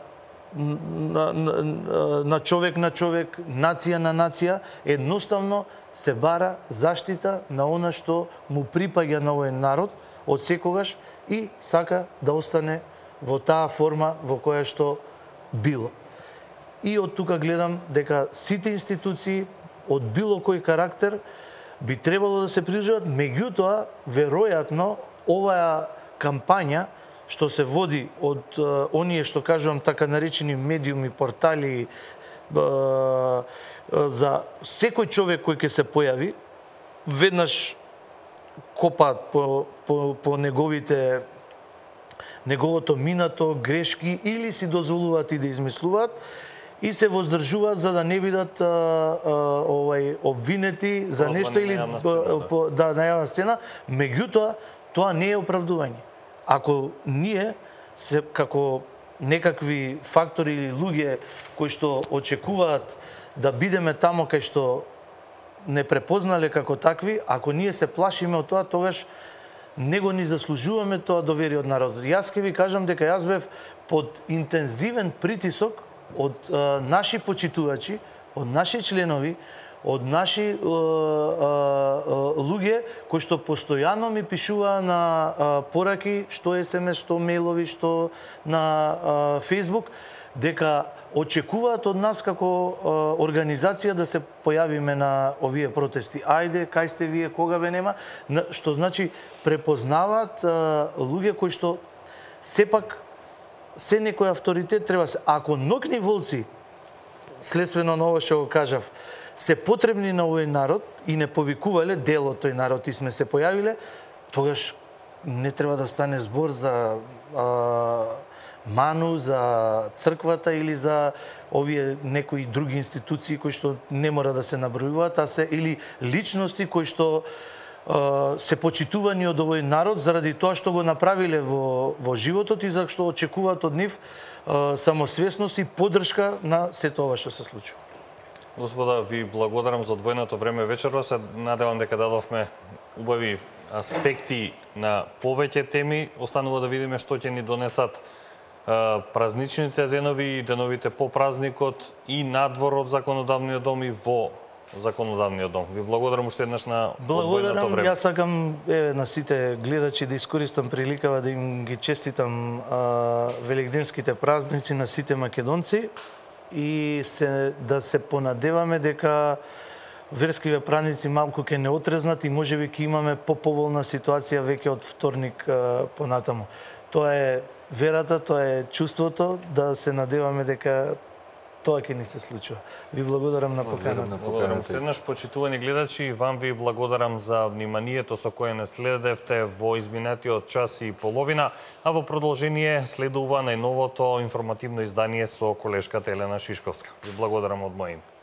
на, на, на човек на човек, нација на нација, едноставно се бара заштита на она што му припаѓа на овој народ од секогаш и сака да остане во таа форма во која што било. И од тука гледам дека сите институции од било кој карактер би требало да се придржуваат, меѓутоа, веројатно, оваа кампања што се води од uh, оние што кажувам така наречени медиуми, портали, uh, за секој човек кој ќе се појави, веднаш копаат по, по, по неговите неговото минато, грешки или си дозволуваат и да измислуваат и се воздржуваат за да не бидат а, а, овај обвинети за Прозвани нешто или на сцена, да. По, да, на јавна сцена, меѓутоа тоа не е оправдување. Ако ние се како некакви фактори или луѓе кои што очекуваат да бидеме тамо кај што не препознале како такви, ако ние се плашиме од тоа, тогаш не го ни заслужуваме тоа доверие од народот. Јас ќе ви кажам дека јас бев под интензивен притисок од а, наши почитувачи, од наши членови, од наши а, а, а, луѓе кои што постојано ми пишуваа на а, пораки, што ес ем ес, што мејлови, што на а, Facebook, дека очекуваат од нас како а, организација да се појавиме на овие протести. Ајде, кај сте вие, кога ве нема? Што значи препознаваат а, луѓе кои што сепак се некој авторитет треба се. Ако нокни волци, следствено на ова што го кажав, се потребни на овој народ и не повикувале дел од тој народ и сме се појавиле, тогаш не треба да стане збор за а, ману, за црквата или за овие некои други институции кои што не мора да се набројуваат, а се или личности кои што а, се почитувани од овој народ заради тоа што го направиле во, во животот и за што очекуваат од нив а, самосвесност и поддршка на сето ова што се случува. Господа, ви благодарам за одвоеното време вечерва. Се надевам дека дадовме убави аспекти на повеќе теми. Останува да видиме што ќе ни донесат празничните денови и деновите по празникот и надвор од законодавниот дом и во законодавниот дом. Ви благодарам уште еднаш на одвоеното време. Јас сакам е, на сите гледачи да искористам приликава да им ги честитам а, великденските празници на сите македонци и се, да се понадеваме дека верскиве празници малку ќе не отрезнат и можеби ќе имаме поповолна ситуација веќе од вторник а, понатаму. Тоа е верата, тоа е чувството да се надеваме дека тоа ќе ни се случува. Ви благодарам на поканата. Благодарам уште еднаш, почитувани гледачи, вам ви благодарам за вниманието со кое не следевте во изминатиот час и половина, а во продолжение следува најновото информативно издание со колешката Елена Шишковска. Ви благодарам од моје име.